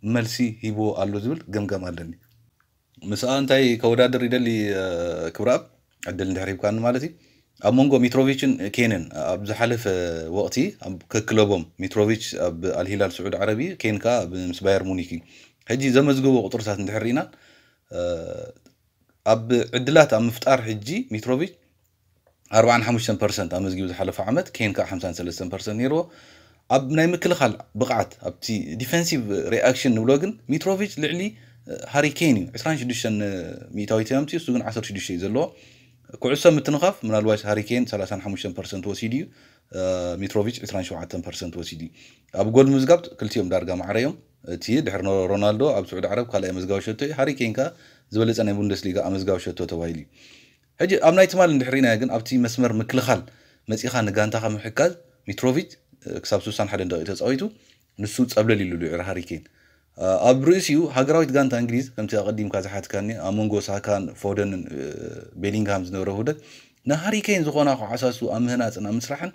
መልሲ ሂብዎ ኣሎ ዝብል ገምጋም ኣለኒ። ምስኣ እንታይ ከወዳድር ይደሊ ክብረኣብ ዕድል እንድሕር ሂብካኒ ማለት እዩ። ኣብ መንጎ ሚትሮቪችን ኬንን ኣብ ዝሓለፈ ወቕቲ ኣብ ከክለቦም፣ ሚትሮቪች ኣብ ኣልሂላል ስዑድ ዓረብ እዩ፣ ኬን ከኣ ምስ ባየር ሙኒክ እዩ። ሕጂ ዘመዝግቦ ቁፅርታት እንድሕር ርኢና ኣብ ዕድላት ኣብ ምፍጣር ሕጂ ሚትሮቪች ኣርባዓን ሓሙሽተን ፐርሰንት ኣመዝጊቡ ዝሓለፈ ዓመት፣ ኬን ከዓ ሓምሳን ሰለስተን ፐርሰንት ነይርዎ። ኣብ ናይ ምክልኻል ብቕዓት፣ ኣብቲ ዲፌንሲቭ ሪኣክሽን ንብሎ ግን ሚትሮቪች ልዕሊ ሃሪ ኬን እዩ። ዕስራን ሽዱሽተን ሚእታዊት እዮም፣ እሱ ግን ዓሰርተ ሽዱሽተ እዩ ዘለዎ። ኩዕሶ ምትንኻፍ ምናልባሽ ሃሪ ኬን ሰላሳን ሓሙሽተን ፐርሰንት ወሲዱ እዩ፣ ሚትሮቪች ዕስራን ሸውዓተን ፐርሰንት ወሲዱ እዩ። ኣብ ጎል ምዝጋብ ክልቲኦም ዳርጋ ማዕረ እዮም። እቲ ድሕሪ ሮናልዶ ኣብ ስዑዲ ዓረብ ካልኣይ ኣመዝጋቢ ሸቶ እዩ። ሃሪ ኬን ከዓ ዝበለፀ ናይ ቡንደስሊጋ ኣመዝጋቢ ሸቶ ተባሂሉ እዩ። ሕጂ ኣብ ናይ ትማል እንድሕር ርኢናዮ ግን ኣብቲ መስመር ምክልኻል መፂኻ ንጋንታኻ ምሕጋዝ ሚትሮቪች ክሳብ ስሳን ሓደን ደቂቕ ተፃዊቱ ንሱ ፀብለል ኢሉ ልዑል ሃሪ ኬን ኣብ ርእሲኡ ሃገራዊት ጋንታ እንግሊዝ ከምቲ ኣቐዲምካ ዝሓትካኒ ኣብ መንጎ ሳካን ፎደንን ቤሊንግሃም ዝነበረ ውህደት ንሃሪ ኬን ዝኾና ከዓሳሱ ኣብ ምህናፅን ኣብ ምስራሕን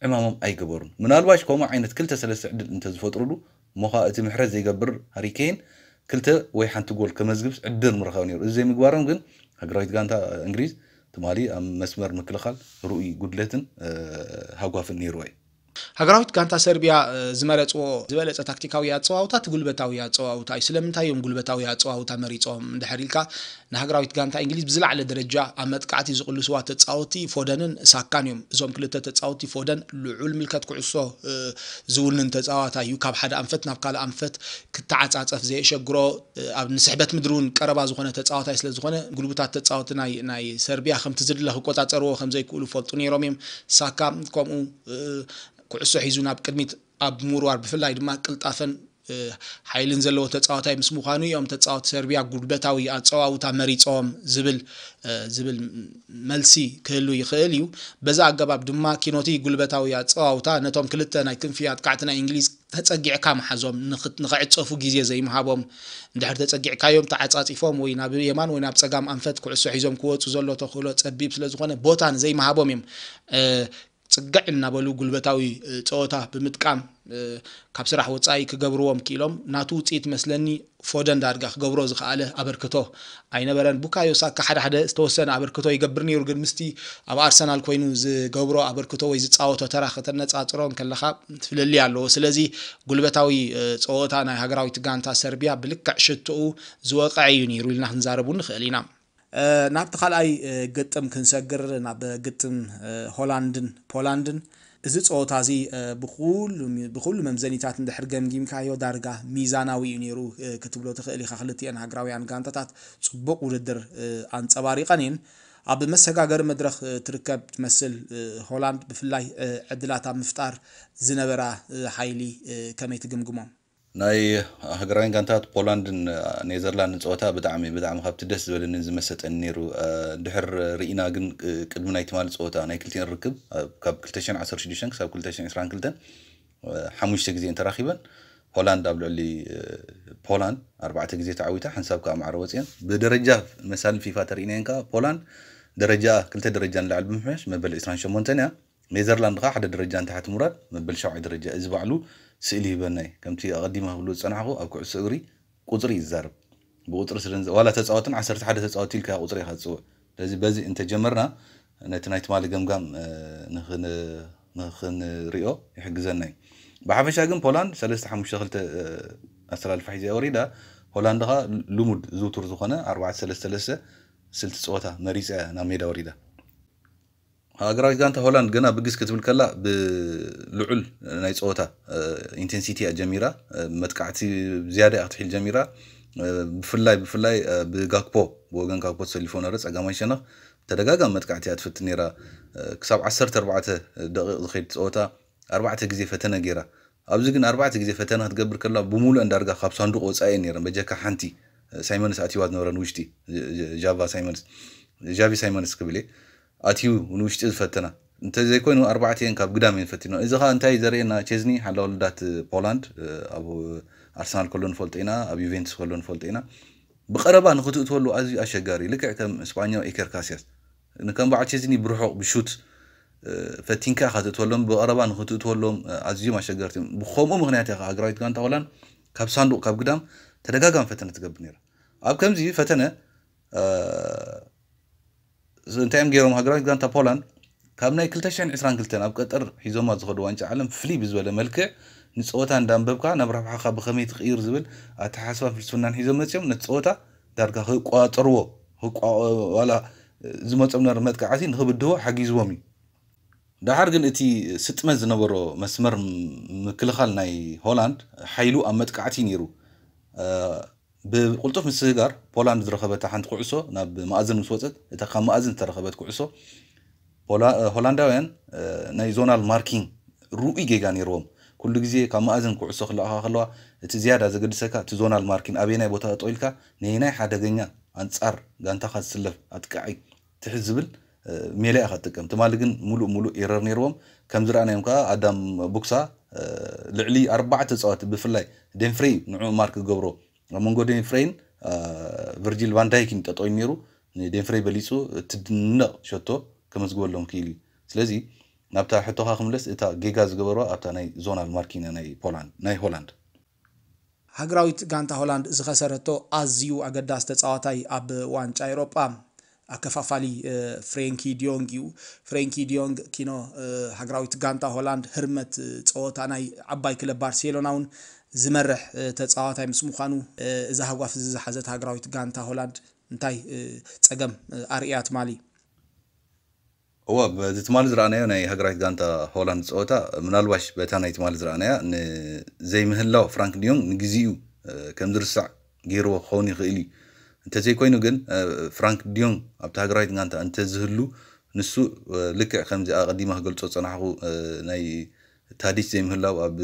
ዕማሞም ኣይገበሩን። ምናልባሽ ከምኡ ዓይነት ክልተ ሰለስተ ዕድል እንተዝፈጥሩሉ እሞ ኸኣ እቲ ምሕረት ዘይገብር ሃሪ ኬን ክልተ ወይ ሓንቲ ጎል ከመዝግብስ ዕድል ምረኸበ ነይሩ። እዚ ዘይምግባሮም ግን ሃገራዊት ጋንታ እንግሊዝ ትማሊ ኣብ መስመር ምክልኻል ርኡይ ጉድለትን ሃጓፍን ነይርዋ እዩ። ሃገራዊት ጋንታ ሰርቢያ ዝመረፅዎ ዝበለፀ ታክቲካዊ ኣፀዋውታ እቲ ጉልበታዊ ኣፀዋውታ እዩ። ስለምንታይ እዮም ጉልበታዊ ኣፀዋውታ መሪፆም እንድሕር ኢልካ ንሃገራዊት ጋንታ እንግሊዝ ብዝለዓለ ደረጃ ኣብ መጥቃዕቲ ዝቕልስዋ ተፃወቲ ፎደንን ሳካን እዮም። እዞም ክልተ ተፃወቲ ፎደን ልዑል ምልከት ኩዕሶ ዝውንን ተፃዋታይ እዩ። ካብ ሓደ ኣንፈት ናብ ካልእ ኣንፈት ክተዓፃፀፍ ዘየሸግሮ ኣብ ንስሕበት ምድሪ እውን ቀረባ ዝኾነ ተፃዋታይ ስለዝኾነ ጉልቡታት ተፃወቲ ናይ ናይ ሰርቢያ ከምቲ ዝድለ ክቆፃፀርዎ ከምዘይክእሉ ፈልጡ ነይሮም እዮም። ሳካ ከምኡ ኩዕሶ ሒዙ ናብ ቅድሚት ኣብ ምውርዋር ብፍላይ ድማ ቅልጣፈን ሓይልን ዘለዎ ተፃዋታይ ምስ ምዃኑ እዮም ተፃወቲ ሰርቢያ ጉልበታዊ ኣፀዋውታ መሪፆም ዝብል ዝብል መልሲ ክህሉ ይኽእል እዩ። በዛ ኣገባብ ድማ ኪኖቲ ጉልበታዊ ኣፀዋውታ ነቶም ክልተ ናይ ክንፊ ኣጥቃዕቲ ናይ እንግሊዝ ተፀጊዕካ ምሓዞም ንኽዕፀፉ ግዜ ዘይምሃቦም እንድሕር ተፀጊዕካዮም ተዓፃፂፎም ወይ ናብ የማን ወይ ናብ ፀጋም ኣንፈት ኩዕሶ ሒዞም ክወፁ ዘሎ ተኽእሎ ፀቢብ ስለዝኾነ ቦታ ንዘይምሃቦም እዮም ፅግዕ እናበሉ ጉልበታዊ ፀወታ ብምጥቃም ካብ ስራሕ ወፃኢ ክገብርዎም ክኢሎም ናቱ ውፅኢት መስለኒ ፎደን ዳርጋ ክገብሮ ዝኸኣለ ኣበርክቶ ኣይነበረን። ቡካዮ ሳካ ሓደ ሓደ ዝተወሰነ ኣበርክቶ ይገብር ነይሩ፣ ግን ምስቲ ኣብ ኣርሰናል ኮይኑ ዝገብሮ ኣበርክቶ ወይ ዝፃወቶ ተራ ከተነፃፅሮ ከለኻ ፍልልይ ኣለዎ። ስለዚ ጉልበታዊ ፀወታ ናይ ሃገራዊት ጋንታ ሰርቢያ ብልክዕ ሽትኡ ዝወቕዐ እዩ ነይሩ ኢልና ክንዛረብ እውን ንኽእል ኢና። ናብቲ ካልኣይ ግጥም ክንሰግር ናብ ግጥም ሆላንድን ፖላንድን። እዚ ፀወታ እዚ ብኩሉ መምዘኒታት እንድሕር ገምጊምካዮ ዳርጋ ሚዛናዊ እዩ ነይሩ ክትብሎ ትኽእል ኢኻ። ክልቲኤን ሃገራውያን ጋንታታት ፅቡቕ ውድድር ኣንፀባሪቐን እየን። ኣብ መሰጋገሪ መድረኽ ትርከብ ትመስል ሆላንድ ብፍላይ ዕድላት ኣብ ምፍጣር ዝነበራ ሓይሊ ከመይ ትግምግሞ? ናይ ሃገራውያን ጋንታት ፖላንድን ኔዘርላንድን ፀወታ ብጣዕሚ ብጣዕሚ ካብቲ ደስ ዝበለንን ዝመሰጠን ነይሩ። ድሕር ርኢና ግን ቅድሚ ናይ ትማሊ ፀወታ ናይ ክልቲኤን ርክብ ካብ ክልተ ሽሕን ዓሰርተ ሽዱሽተን ክሳብ ክልተ ሽሕን ዕስራን ክልተን ሓሙሽተ ግዜ ተራኺበን ሆላንድ ኣብ ልዕሊ ፖላንድ ኣርባዕተ ግዜ ተዓዊታ ሓንሳብ ከዓ ማዕረ ወፅየን። ብደረጃ መሳሊ ፊፋ ተርኢናየን ከዓ ፖላንድ ደረጃ ክልተ ደረጃ ንላዕሊ ብምሕያሽ መበል ዕስራን ሸሞንተን እያ። ኔዘርላንድ ከዓ ሓደ ደረጃ ንታሕቲ ምውራድ መበል ሻውዓይ ደረጃ። እዚ ባዕሉ ስእሊ ይህበና እዩ። ከምቲ ኣቐዲመ ክብሉ ዝፀናሕኹ ኣብ ኩዕሶ እግሪ ቁፅሪ እዩ ዝዛረብ። ብቁፅሪ ስለ ዋላ ተፃወትን ዓሰርተ ሓደ ተፃወቲ ኢልካ ቁፅሪ ኢኻ ትፅውዕ። ስለዚ በዚ እንተጀመርና ነቲ ናይ ትማሊ ገምጋም ንኽንሪኦ ይሕግዘና እዩ። ብሓፈሻ ግን ፖላንድ ሰለስተ ሓሙሽተ ክልተ ኣሰላልፋ ሒዛ ወሪዳ። ሆላንድ ኸ ልሙድ ዝውቱር ዝኾነ ኣርባዕተ ሰለስተ ሰለስተ ስልቲ ፀወታ መሪፃ እያ ናብ ሜዳ ወሪዳ። ሃገራዊት ጋንታ ሆላንድ ገና ብግስ ክትብል ከላ ብልዑል ናይ ፀወታ ኢንቴንሲቲ እያ ጀሚራ። መጥቃዕቲ ዝያዳ እያ ክትሒል ጀሚራ። ብፍላይ ብፍላይ ብጋክፖ ብወገን ጋክፖ ተሰሊፎ ነበረ ፀጋማይ ሸነኽ ተደጋጋሚ መጥቃዕቲ እያ ትፍትን ነይራ። ክሳብ ዓሰርተ ኣርባዕተ ደቂቕ ዝኸይድ ፀወታ ኣርባዕተ ግዜ ፈተነ ገይራ። ኣብዚ ግን ኣርባዕተ ግዜ ፈተነ ክትገብር ከላ ብሙሉአን ዳርጋ ካብ ሳንዱቕ ወፃኢ እየን ነይረን። በጀካ ሓንቲ ሳይመንስ ኣትይዋ ዝነበረን ውሽጢ ጃቫ ሳይመንስ ጃቪ ሳይመንስ ክብል እየ ኣትዩ ንውሽጢ ዝፈተና እንተዘይኮይኑ ኣርባዕተ እየን ካብ ግዳም እየን ፈቲኖ። እዚ ከዓ እንታይ ዘርእየና ቼዝኒ ሓላ ወለዳት ፖላንድ ኣብ ኣርሰናል ከሎ ንፈልጦ ኢና፣ ኣብ ዩቬንቱስ ከሎ ንፈልጦ ኢና። ብቐረባ ንኽትእትወሉ ኣዝዩ ኣሸጋሪ፣ ልክዕ ከም ስጳኛዊ ኤከር ካስያስ። ንከም በዓል ቼዝኒ ብርሑቕ ብሹት፣ እ፣ ፈቲንካ ኢኻ ትእትወሎም፣ ብቐረባ ንኽትእትወሎም፣ እ፣ ኣዝዮም ኣሸገርቲ እዮም። ብኸምኡ ምኽንያት ኢኻ ሃገራዊት ጋንታ ሆላንድ ካብ ሳንዱቕ፣ ካብ ግዳም ተደጋጋሚ ፈተነ ትገብር ነይራ። ኣብ ከምዚ ፈተነ፣ እ፣ እንታይ እዮም ገይሮም? ሃገራዊት ጋንታ ፖላንድ ካብ ናይ ክልተ ሽሕን ዕስራን ክልተን ኣብ ቀጠር ሒዞማ ዝኸዱ ዋንጫ ዓለም ፍልይ ብዝበለ መልክዕ ንጸወታ እንዳንበብካ ናብ ረብሓኻ ብኸመይ ትቕይር ዝብል ኣተሓሳስባን ፍልስፍናን ሒዞም መጺኦም። ነቲ ጸወታ ዳርጋ ክቋጸርዎ፣ ክቋ-፣ ዋላ ዝመጾም ነበረ መጥቃዕቲ ንኽብድህዎ ሓጊዝዎም እዩ። ደሓር ግን እቲ ስጥመት ዝነበሮ መስመር ምክልኻል ናይ ሆላንድ ሓይሉ ኣብ መጥቃዕቲ ነይሩ። እ፣ ብቕልጡፍ ምስግጋር ፖላንድ ዝረኸበታ ሓንቲ ኩዕሶ ናብ መኣዝን ምስ ወጸት፣ እታ ካብ መኣዝን ዝተረኸበት ኩዕሶ ፖላ-፣ እ፣ ሆላንዳውያን፣ እ፣ ናይ ዞናል ማርኪንግ ርኡይ ጌጋ ነይርዎም። ኩሉ ግዜ ካብ መኣዝን ኩዕሶ ክለኣኻ ከለዋ እቲ ዝያዳ ዘገድሰካ እቲ ዞናል ማርኪን ኣበየናይ ቦታ ጠጠው ኢልካ ነየናይ ሓደገኛ ኣንጻር ጋንታኻ ዝስለፍ ኣጥቃዓይ ትሕዝ ዝብል፣ እ፣ ሜላ ኢኻ ትጥቀም። ትማሊ ግን ሙሉእ ሙሉእ ኤረር ነይርዎም። ከም ዝረኣናዮም ከኣ ኣዳም ቡክሳ፣ እ፣ ልዕሊ ኣርባዕተ ተጻወቲ ብፍላይ ዴንፍሬይ ንዑ ማርክ ክገብሮ ኣብ መንጎ ዴንፍሬይን፣ እ፣ ቨርጂል ቫንዳይክን ጠጠው ኢሉ ነይሩ። ንዴንፍሬይ በሊጹ እትድነቕ ሸቶ ከመዝግበሎም ክኢሉ እዩ። ስለዚ ናብታ ሕቶኻ ክምለስ፣ እታ ጌጋ ዝገበርዋ ኣብታ ናይ ዞናል ማርኪን ናይ ፖላንድ፣ ናይ ሆላንድ። ሃገራዊት ጋንታ ሆላንድ ዝኸሰረቶ ኣዝዩ ኣገዳሲ ተጻዋታይ ኣብ ዋንጫ ኤውሮጳ ኣከፋፋሊ፣ እ፣ ፍሬንኪ ዲዮንግ እዩ። ፍሬንኪ ዲዮንግ ኪኖ፣ እ፣ ሃገራዊት ጋንታ ሆላንድ ህርመት፣ እ፣ ጸወታ ናይ ዓባይ ክለብ ባርሴሎና እውን ዝመርሕ፣ እ፣ ተጻዋታይ ምስ ምዃኑ፣ እ፣ እዛ ሃጓፍ እዚ ዝሓዘት ሃገራዊት ጋንታ ሆላንድ እንታይ፣ እ፣ ጸገም፣ እ፣ ኣርእያ ትማሊ? እወ፣ በዚ ትማሊ ዝረኣናዮ ናይ ሃገራዊት ጋንታ ሆላንድ ጸወታ፣ ምናልባሽ በታ ናይ ትማሊ ዝረኣናያ ንዘይምህላው ፍራንክ ዲዮንግ ንግዚኡ፣ እ፣ ከም ዝርሳዕ ገይርዎ ክኸውን ይኽእል እዩ። እንተዘይኮይኑ ግን፣ እ፣ ፍራንክ ዲዮንግ ኣብታ ሃገራዊት ጋንታ እንተዝህሉ፣ ንሱ፣ እ፣ ልክዕ ከምዚ ኣቐዲመ ክገልጾ ዝጸናሕኩ፣ እ፣ ናይ ታዲች ዘይምህላው ኣብ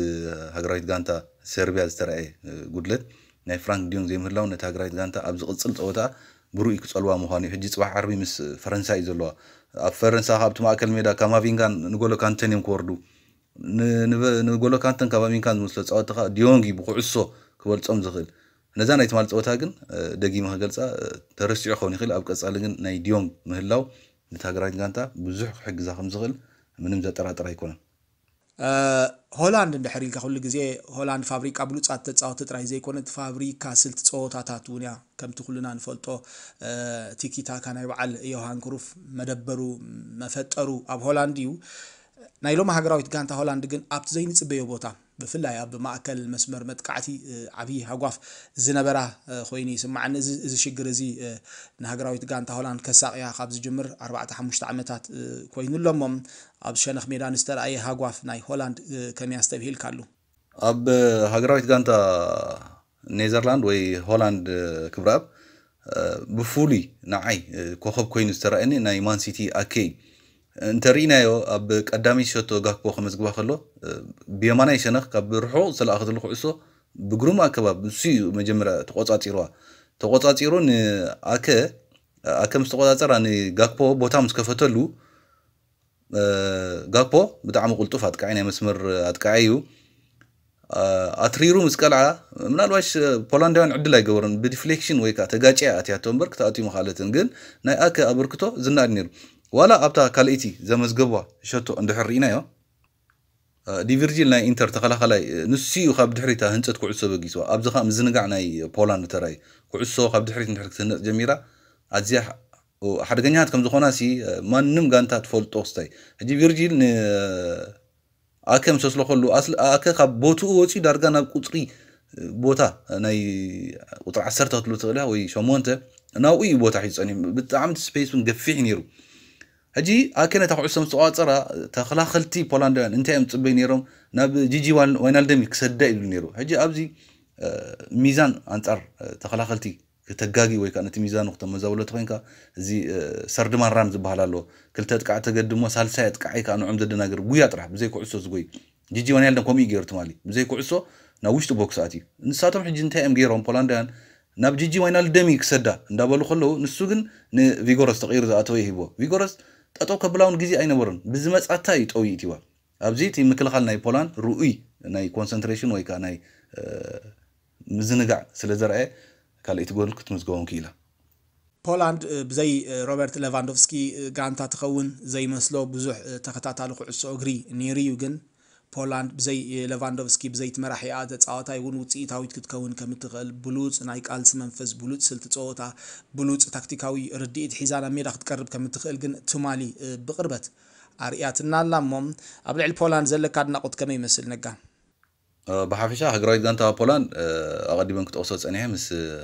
ሃገራዊት ጋንታ ሰርቢያ ዝተረኣየ፣ እ፣ ጉድለት፣ ናይ ፍራንክ ዲዮንግ ዘይምህላው ነቲ ሃገራዊት ጋንታ ኣብ ዝቕጽል ጸወታ ብሩይ ክጸልዋ ምዃኑ እዩ። ሕጂ ጽባሕ ዓርቢ ምስ ፈረንሳ እዩ ዘለዋ። ኣብ ፈረንሳ ከኣ ኣብቲ ማእከል ሜዳ ካማቪንጋን ንጎሎ ካንተን እዮም ክወርዱ። ን-፣ ንበ-፣ ንጎሎ ካንተን ካማቪንጋን ዝመስሎ ጸወታ ከኣ ዲዮንግ እዩ ብኩዕሶ ክበልጾም ዝኽእል። ነዛ ናይ ትማሊ ጸወታ ግን፣ እ፣ ደጊመ ክገልጻ፣ እ፣ ተረሲዑ ክኸውን ይኽእል። ኣብ ቀጻሊ ግን ናይ ዲዮንግ ምህላው ነቲ ሃገራዊት ጋንታ ብዙሕ ክሕግዛ ከም ዝኽእል ምንም ዘጠራጥር ኣይኮነን። እ፣ ሆላንድ እንድሕር ኢልካ፣ ኩሉ ግዜ ሆላንድ ፋብሪካ ብሉጻት ተጻወቲ ጥራይ ዘይኮነት፣ ፋብሪካ ስልቲ ጸወታታት እውን እያ። ከምቲ ኩልና ንፈልጦ፣ እ፣ ቲኪታካ ናይ በዓል ዮሃን ክሩፍ መደበሩ፣ መፈጠሩ ኣብ ሆላንድ እዩ። ናይ ሎሚ ሃገራዊት ጋንታ ሆላንድ ግን ኣብቲ ዘይንጽበዮ ቦታ፣ ብፍላይ ኣብ ማእከል መስመር መጥቃዕቲ፣ እ፣ ዓብዪ ሃጓፍ ዝነበራ፣ እ፣ ኮይኑ ይስምዓኒ። እዚ፣ እዚ ሽግር እዚ፣ እ፣ ንሃገራዊት ጋንታ ሆላንድ ከሳቕያ ካብ ዝጅምር ኣርባዕተ ሓሙሽተ ዓመታት፣ እ፣ ኮይኑ ኣሎ እሞ፣ ኣብ ሸነኽ ሜዳ ንዝተረኣየ ሃጓፍ ናይ ሆላንድ፣ እ፣ ከመይ ኣስተብሂልካሉ? ኣብ ሃገራዊት ጋንታ ኔዘርላንድ ወይ ሆላንድ፣ እ፣ ክብረኣብ፣ እ፣ ብፍሉይ ንዓይ፣ እ፣ ኮኸብ ኮይኑ ዝተረኣየኒ ናይ ማን ሲቲ ኣኬ እዩ። እንተርኢናዮ፣ ኣብ ቀዳመይቲ ሸቶ ጋክፖ ከመዝግባ ከሎ፣ እ፣ ብየማናይ ሸነኽ ካብ ርሑቕ ዝተለኣኸትሉ ኩዕሶ ብግሩም ኣገባብ ንሱ እዩ መጀመርያ ተቖጻጺርዋ። ተቖጻጺሩ ንኣከ፣ ኣከ ምስ ተቖጻጸራ ንጋክፖ ቦታ ምስ ከፈተሉ፣ እ፣ ጋክፖ ብጣዕሚ ቅልጡፍ ኣጥቃዒ፣ ናይ መስመር ኣጥቃዒ እዩ። እ፣ ኣትሪሩ ምስ ቀልዓ፣ ምናልባሽ ፖላንዳውያን ዕድል ኣይገበሩን፣ ብዲፍሌክሽን ወይ ከዓ ተጋጭያ ኣትያቶ እምበር ክትኣትዩ ምኽኣለትን። ግን ናይ ኣከ ኣበርክቶ ዝነኣድ ነይሩ። ዋላ ኣብታ ካልኣይቲ ዘመዝገቧ ሸቶ እንድሕር ርኢናዮ፣ እ፣ ዲቪርጂል ናይ ኢንተር ተኸላኸላይ፣ እ፣ ንሱ እዩ ካብ ድሕሪታ ህንጸት ኩዕሶ በጊስዋ። ኣብዚ ኸኣ ምዝንጋዕ ናይ ፖላንድ ተራእዩ። ኩዕሶ ካብ ድሕሪት እንድሕር ክትህነጽ ጀሚራ፣ ኣዝያ ሓ-፣ ሓደገኛታት ከም ዝኾና ሲ፣ እ፣ ማንም ጋንታ ትፈልጦ ክስታይ። ሕጂ ቪርጂል ን-፣ ኣከ ምስ ኣስለኸሉ፣ ኣስል-፣ ኣከ ካብ ቦትኡ ወጺኡ ዳርጋ ናብ ቁጽሪ፣ እ፣ ቦታ ናይ ቁጽሪ ዓሰርተ ክትብሎ ትኽእል ኢኻ ወይ ሸሞንተ፣ ናብኡ እዩ ቦታ ሒዙ ጸኒሑ። ብጣዕሚ እቲ ስፔስ እውን ገፊሕ እዩ ነይሩ። ሕጂ ኣከ ነታ ኩዕሶ ምስ ተቋጸራ፣ ተኸላኸልቲ ፖላንዳውያን እንታይ እዮም ዝጽበዩ ነይሮም? ናብ ጂጂ ዋን-፣ ዋይናልደም እዩ ክሰዳ ይብሉ ነይሩ። ሕጂ ኣብዚ፣ እ፣ ሚዛን ኣንጻር፣ እ፣ ተኸላኸልቲ ክተጋጊ ወይ ከዓ ነቲ ሚዛኑ ክተመዛብሎ ተኾይንካ፣ እዚ፣ እ፣ ሰርድማን ራን ዝበሃል ኣሎ። ክልተ ጥቃዕ ተገድሞ ሳልሳይ ኣጥቃዓይ ከዓ ንዕኦም ዘደናግር ጉያ ጥራሕ፣ ብዘይ ኩዕሶ ዝጎይ። ጂጂ ዋይናልደም ከምኡ እዩ ገይሩ ትማሊ። ብዘይ ኩዕሶ ናብ ውሽጢ ቦክስ ኣትዩ። ንሳቶም ሕጂ እንታይ እዮም ገይሮም ፖላንዳውያን? ናብ ጂጂ ዋይናልደም እዩ ክሰዳ እንዳበሉ ከለዉ፣ ንሱ ግን ንቪጎረስ ተቐይሩ ዝኣተወ ይሂብዎ። ቪጎረስ ጠጠው ከብላ እውን ግዜ ኣይነበሮን። ብዝመጻታ እዩ ጠውዩ እቲዋ። ኣብዚ እቲ ምክልኻል ናይ ፖላንድ ርኡይ ናይ ኮንሰንትሬሽን ወይ ከዓ ናይ፣ እ፣ ምዝንጋዕ ስለ ዘርኣየ ካልኣይቲ ጎል ክትምዝገቦም ክኢላ። ፖላንድ ብዘይ ሮበርት ሌቫንዶቭስኪ ጋንታ ትኸውን ዘይመስሎ ብዙሕ ተኸታታሊ ኩዕሶ እግሪ ነይሩ እዩ። ግን ፖላንድ ብዘይ ሌቫንዶቭስኪ ብዘይ እቲ መራሒኣ ተፃዋታይ እውን ውፅኢታዊት ክትከውን ከም እትኽእል ብሉፅ ናይ ቃልሲ መንፈስ፣ ብሉፅ ስልቲ ፀወታ፣ ብሉፅ ታክቲካዊ ርድኢት ሒዛ ናብ ሜዳ ክትቀርብ ከም እትኽእል ግን ትማሊ ብቕርበት ኣርእያትና ኣላ። እሞ ኣብ ልዕሊ ፖላንድ ዘለካ ኣድናቖት ከመይ ይመስል ነጋ? ብሓፈሻ ሃገራዊት ጋንታ ፖላንድ ኣቐዲመን ክጠቕሶ ፀኒሐ ምስ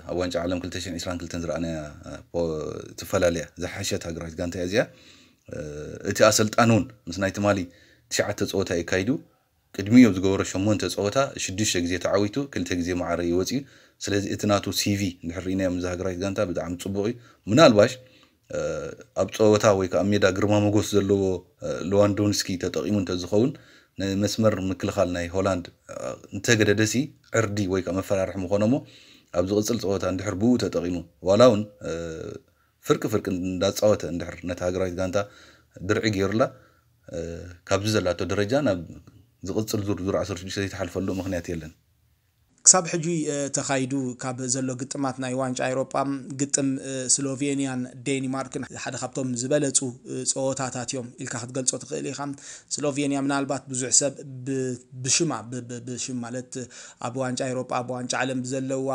ኣብ ዋንጫ ዓለም ክልተ ሽሕን ዕስራን ክልተን ዝረኣናያ ትፈላለያ ዝሓሸት ሃገራዊት ጋንታ እያ እዚኣ። እቲ ኣሰልጣን እውን ምስ ናይ ትማሊ ትሽዓተ ፀወታ የካይዱ ቅድሚኡ ኣብ ዝገበሮ ሸሞንተ ፀወታ ሽዱሽተ ግዜ ተዓዊቱ ክልተ ግዜ ማዕረ እዩ ወፂኡ። ስለዚ እቲ ናቱ ሲቪ እንድሕር ርኢናዮ ምዛ ሃገራዊት ጋንታ ብጣዕሚ ፅቡቕ እዩ። ምናልባሽ ኣብ ፀወታ ወይ ከዓ ሜዳ ግርማ ሞጎስ ዘለዎ ሌዋንዶንስኪ ተጠቒሙ እንተዝኸውን ንመስመር ምክልኻል ናይ ሆላንድ እንተገደደሲ ዕርዲ ወይ ከዓ መፈራርሒ ምኾኖ እሞ ኣብ ዝቕፅል ፀወታ እንድሕር ብኡ ተጠቒሙ ዋላ እውን ፍርቂ ፍርቂ እንዳፃወተ እንድሕር ነታ ሃገራዊት ጋንታ ድርዒ ገይሩላ ካብዚ ዘላቶ ደረጃ ናብ ዝቕፅል ዙር ዙር ዓሰርተ ሽዱሽተ ዘይትሓልፈሉ ምኽንያት የለን። ክሳብ ሕጂ ተኻይዱ ካብ ዘሎ ግጥማት ናይ ዋንጫ ኤውሮጳ ግጥም ስሎቬንያን ዴንማርክን ሓደ ካብቶም ዝበለፁ ፀወታታት እዮም ኢልካ ክትገልፆ ትኽእል ኢኻ። ስሎቬንያ ምናልባት ብዙሕ ሰብ ብሽማ ብሽም ማለት ኣብ ዋንጫ ኤውሮጳ ኣብ ዋንጫ ዓለም ብዘለዋ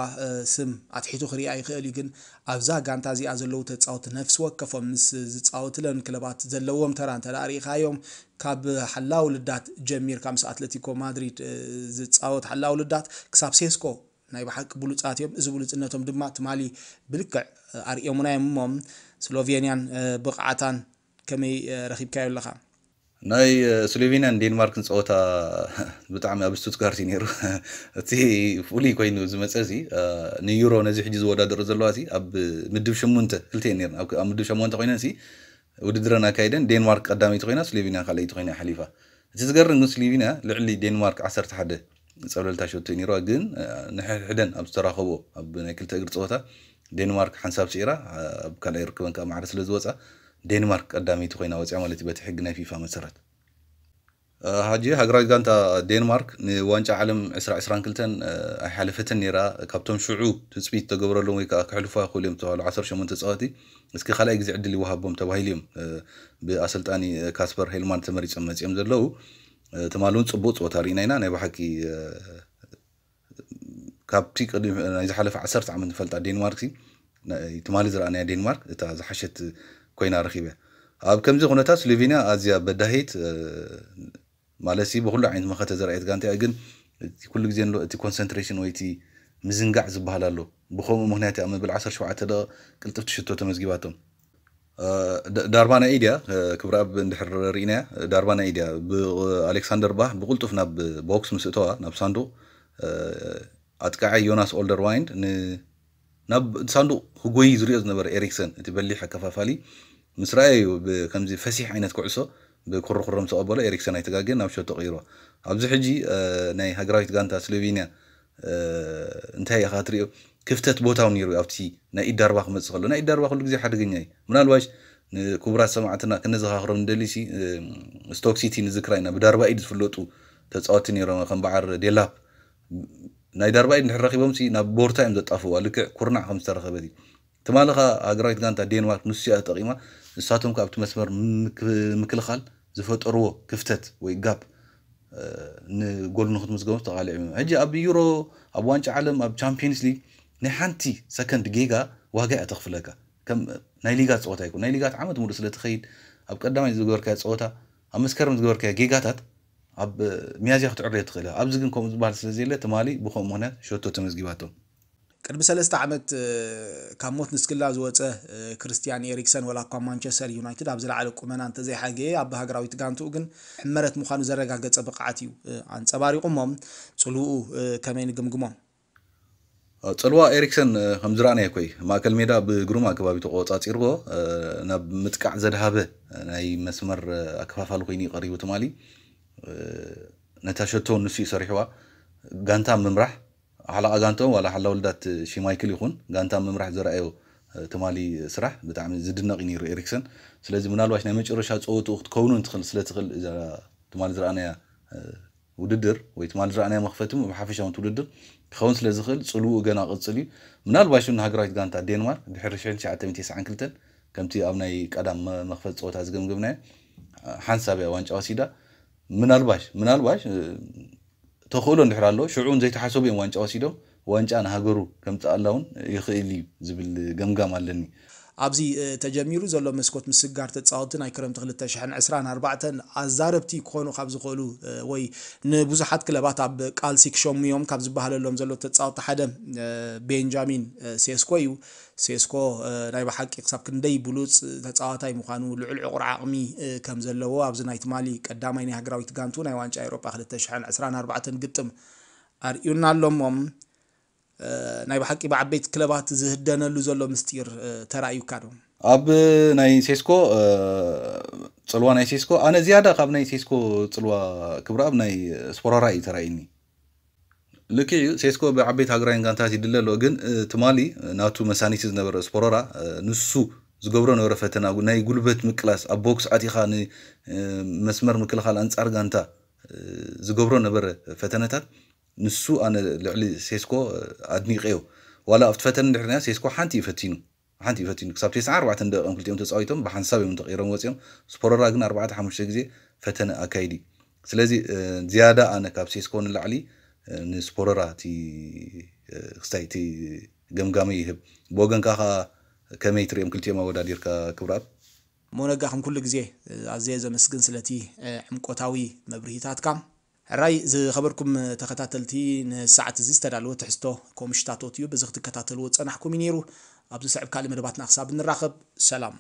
ስም ኣትሒቱ ክሪኣ ይኽእል እዩ። ግን ኣብዛ ጋንታ እዚኣ ዘለዉ ተፃወቲ ነፍሲ ወከፎም ምስ ዝፃወትለን ክለባት ዘለዎም ተራ እንተ ርኢኻዮም ካብ ሓላው ልዳት ጀሚርካ ምስ ኣትለቲኮ ማድሪድ ዝፃወት ሓላው ልዳት ክሳብ ሴስኮ ናይ ብሓቂ ብሉፃት እዮም። እዚ ብሉፅነቶም ድማ ትማሊ ብልክዕ ኣርእዮምና እዮም። እሞ ስሎቬንያን ብቕዓታን ከመይ ረኺብካዮ ኣለኻ? ናይ ስሎቬንያን ዴንማርክን ፀወታ ብጣዕሚ ኣብ ስቱትጋርት እዩ ነይሩ። እቲ ፍሉይ ኮይኑ ዝመፀ እዚ ንዩሮ ነዚ ሕጂ ዝወዳደሩ ዘለዋ እዚ ኣብ ምድብ ሸሞንተ ክልተ ነርና ኣብ ምድብ ሸሞንተ ኮይነን ውድድረን ኣካይደን ዴንማርክ ቀዳመይቲ ኮይና ስሎቬንያ ካልኣይቲ ኮይና ሓሊፋ። እቲ ዝገርም ግን ስሎቬንያ ልዕሊ ዴንማርክ ዓሰርተ ሓደ ፀብለልታ ሸቶ ነይርዋ። ግን ንሕድሕደን ኣብ ዝተራኸቦ ኣብ ናይ ክልተ እግሪ ፀወታ ዴንማርክ ሓንሳብ ስዒራ ኣብ ካልኣይ ርክበን ከዓ ማዕረ ስለ ዝወፃ ዴንማርክ ቀዳመይቲ ኮይና ወፅያ ማለት እዩ በቲ ሕጊ ናይ ፊፋ መሰረት። ሕጂ ሃገራዊት ጋንታ ዴንማርክ ንዋንጫ ዓለም ዕስራ ዕስራን ክልተን ኣይሓለፈትን ነይራ። ካብቶም ሽዑ ትፅቢት ዝተገበረሎም ወይ ከዓ ክሕልፉ ይኽእሉ እዮም ዝተባህሉ ዓሰርተ ሸሞንተ ተፃወቲ እስኪ ካልኣይ ግዜ ዕድል ይወሃቦም ተባሂሉ እዮም ብኣሰልጣኒ ካስፐር ሄልማን ተመሪፆም መፂኦም ዘለዉ። ትማሊ እውን ፅቡቅ ፀወታ ርኢና ኢና። ናይ ብሓቂ ካብቲ ቅድሚ ናይ ዝሓለፈ ዓሰርተ ዓመት ንፈልጣ ዴንማርክ ትማሊ ዝረኣናያ ዴንማርክ እታ ዝሓሸት ኮይና ረኺበ። ኣብ ከምዚ ኩነታት ስሎቬንያ ኣዝያ በዳሂት ማለት ብኩሉ ዓይነት መኸተ ዘርኣየት ጋንታ እያ። ግን ኩሉ ግዜ እቲ ኮንሰንትሬሽን ወይ እቲ ምዝንጋዕ ዝበሃል ኣሎ። ብከምኡ ምክንያት እያ መበል ዓሰርተ ሸውዓተ ደቂቕ ቅልጥፍቲ ሽቶ ተመዝጊባቶም። ዳርባ ናይ ኢድያ ክብረኣብ እንድሕር ርኢናያ ዳርባ ናይ ኢድያ ብኣሌክሳንደር ባህ ብቁልጡፍ ናብ ቦክስ ምስ እተዋ ናብ ሳንዱቕ ኣጥቃዓይ ዮናስ ኦልደርዋይንድ ናብ ሳንዱቕ ክጎይ ዝሪኦ ዝነበረ ኤሪክሰን እቲ በሊሕ ኣከፋፋሊ ምስ ረኣየ እዩ ከምዚ ፈሲሕ ዓይነት ኩዕሶ ብኩርኩሮ ምስ ኣቐበሎ ኤሪክሰን ኣይተጋገን ናብ ሸቶ ቀይርዋ። ኣብዚ ሕጂ ናይ ሃገራዊት ጋንታ ስሎቬንያ እንታይ ኢኻ ትሪኦ ክፍተት ቦታ እውን ነይሩ ኣብቲ ናይ ኢድ ዳርባ ክመፅእ ከሎ ናይ ኢድ ዳርባ ኩሉ ግዜ ሓደገኛ እዩ። ምናልባሽ ንክቡራት ሰማዕትና ክነዘኻኽሮም ንደሊ ሲ ስቶክ ሲቲ ንዝክራ ኢና ብዳርባ ኢድ ዝፍለጡ ተፃወቲ ነይሮም ከም በዓር ዴላፕ ናይ ዳርባ ኢድ እንድሕር ረኺቦም ሲ ናብ ቦርታ እዮም ዘጣፍዋ ልክዕ ኩርናዕ ከም ዝተረኸበት እዩ። ትማሊ ኸ ሃገራዊት ጋንታ ዴንማርክ ንሱ እያ ተጠቒማ ንሳቶም ከ ኣብቲ መስመር ምክልኻል ዝፈጠርዎ ክፍተት ወይ ጋፕ ንጎል ንክትምዝገቡ ተቓሊዖም እዮም። ሕጂ ኣብ ዩሮ ኣብ ዋንጫ ዓለም ኣብ ቻምፒየንስ ሊግ ናይ ሓንቲ ሰከንድ ጌጋ ዋጋ እያ ተኽፍለካ። ከም ናይ ሊጋ ፀወታ ይኮን ናይ ሊጋት ዓመት ሙሉእ ስለትኸይድ ኣብ ቀዳማይ ዝገበርካዮ ፀወታ ኣብ መስከረም ዝገበርካዮ ጌጋታት ኣብ ሚያዝያ ክትዕረዮ ትኽእል ኢኻ። ኣብዚ ግን ከምኡ ዝበሃል ስለዘየለ ትማሊ ብከምኡ ምክንያት ሸቶ ተመዝጊባቶም። ቅድሚ ሰለስተ ዓመት ካብ ሞት ንስክላ ዝወፀ ክርስቲያን ኤሪክሰን ወላ እኳ ማንቸስተር ዩናይትድ ኣብ ዝለዓለ ቁመና እንተዘይሓገየ ኣብ ሃገራዊት ጋንትኡ ግን ሕመረት ምዃኑ ዘረጋገፀ ብቕዓት እዩ ኣንፀባሪቑ። እሞ ፅልውኡ ከመይ ንግምግሞ? ፅልዋ ኤሪክሰን ከም ዝረኣናዮ ኮይ ማእከል ሜዳ ብግሩም ኣገባብ ተቆፃፂርዎ ናብ ምጥቃዕ ዘድሃበ ናይ መስመር ኣከፋፋሊ ኮይኑ እዩ ቀሪቡ ትማሊ። ነታ ሸቶ ንሱ እዩ ሰሪሕዋ። ጋንታ ምምራሕ ሓለቓ ጋንትኦም ዋላ ሓላው ልዳት ሽማይክል ይኹን ጋንታ ምምራሕ ዘረኣዮ ትማሊ ስራሕ ብጣዕሚ ዝድነቕ እዩ ነይሩ ኤሪክሰን። ስለዚ ምናልባሽ ናይ መጨረሻ ፀወትኡ ክትከውኑ እንትኽእል ስለ ትኽእል እዛ ትማሊ ዝረኣናያ ውድድር ወይ ትማሊ ዝረኣናዮ መኽፈቲ ብሓፈሻ እቲ ውድድር ክኸውን ስለ ዝኽእል ጽልውኡ ገና ቅጽል እዩ። ምናልባሽ እውን ንሃገራዊት ጋንታ ዴንማርክ ድሕሪ ሽሕን ትሽዓተ ሚእትን ተስዓን ክልተን ከምቲ ኣብ ናይ ቀዳም መ- መኽፈቲ ጸወታ ዝገምገምናዮ ሓንሳብ እያ ዋንጫ ወሲዳ። ምናልባሽ ምናልባሽ ተኽእሎ እንድሕር ኣሎ ሽዑ እውን ዘይተሓሰቡ እዮም ዋንጫ ወሲዶም ዋንጫ ንሃገሩ ከምፅኣላ እውን ይኽእል እዩ ዝብል ገምጋም ኣለኒ። ኣብዚ ተጀሚሩ ዘሎ መስኮት ምስግጋር ተፃወትቲ ናይ ክረምቲ ክልተ ሽሕን ዕስራን ኣርባዕተን ኣዛረብቲ ክኾኑ ካብ ዝኽእሉ ወይ ንብዙሓት ክለባት ኣብ ቃልሲ ክሸሙ እዮም ካብ ዝበሃለሎም ዘሎ ተፃወትቲ ሓደ ቤንጃሚን ሴስኮ እዩ። ሴስኮ ናይ ብሓቂ ክሳብ ክንደይ ብሉፅ ተፃዋታይ ምዃኑ ልዑል ዕቑር ዓቕሚ ከም ዘለዎ ኣብዚ ናይ ትማሊ ቀዳማይ ናይ ሃገራዊት ጋንቱ ናይ ዋንጫ ኤውሮጳ ክልተ ሽሕን ዕስራን ኣርባዕተን ግጥም ኣርእዩና ኣሎ እሞ ናይ ብሓቂ ብዓበይቲ ክለባት ዝህደነሉ ዘሎ ምስጢር ተራእዩካ ዶ? ኣብ ናይ ሴስኮ ፅልዋ ናይ ሴስኮ ኣነ ዝያዳ ካብ ናይ ሴስኮ ፅልዋ ክብረኣብ ናይ ስፖራራ እዩ ተራእዩኒ። ልክዕ እዩ ሴስኮ ብዓበይቲ ሃገራውያን ጋንታት ይድለ ኣሎ ግን ትማሊ ናቱ መሳኒቲ ዝነበረ ስፖሮራ ንሱ ዝገብሮ ነበረ ፈተና ናይ ጉልበት ምቅላስ ኣብ ቦክስ ኣቲኻ ንመስመር ምክልኻል ኣንጻር ጋንታ ዝገብሮ ነበረ ፈተነታት ንሱ ኣነ ልዕሊ ሴስኮ ኣድኒቀዮ ዋላ ኣብቲ ፈተነ እንድሕርና ሴስኮ ሓንቲ እዩ ፈቲኑ ሓንቲ እዩ ፈቲኑ ክሳብ ተስዓን ኣርባዕተን ደቂቕኦም ክልቲኦም ተፃዊቶም ብሓንሳብ እዮም ተቐይሮም ወፂኦም ስፖሮራ ግን ኣርባዕተ ሓሙሽተ ግዜ ፈተነ ኣካይዲ ስለዚ ዝያዳ ኣነ ካብ ሴስኮ ንላዕሊ ንስፖሮራ እቲ ክስታይ እቲ ገምጋመይ ይህብ ብወገንካ ከ ከመይ ትሪኦም ክልቲኦም ኣወዳዲርካ ክብረኣብ ሞነጋ ከም ኩሉ ግዜ ኣዘየ ዘመስግን ስለቲ ዕምቆታዊ መብርሂታትካ ሕራይ ዝኸበርኩም ተኸታተልቲ ንሰዓት እዚ ዝተዳለወ ትሕዝቶ ኮምሽታቶት እዩ በዚ ክትከታተልዎ ዝፀናሕኩም እዩ ነይሩ ኣብዚ ስዕብ ካልእ መደባትና ክሳብ ንራኸብ ሰላም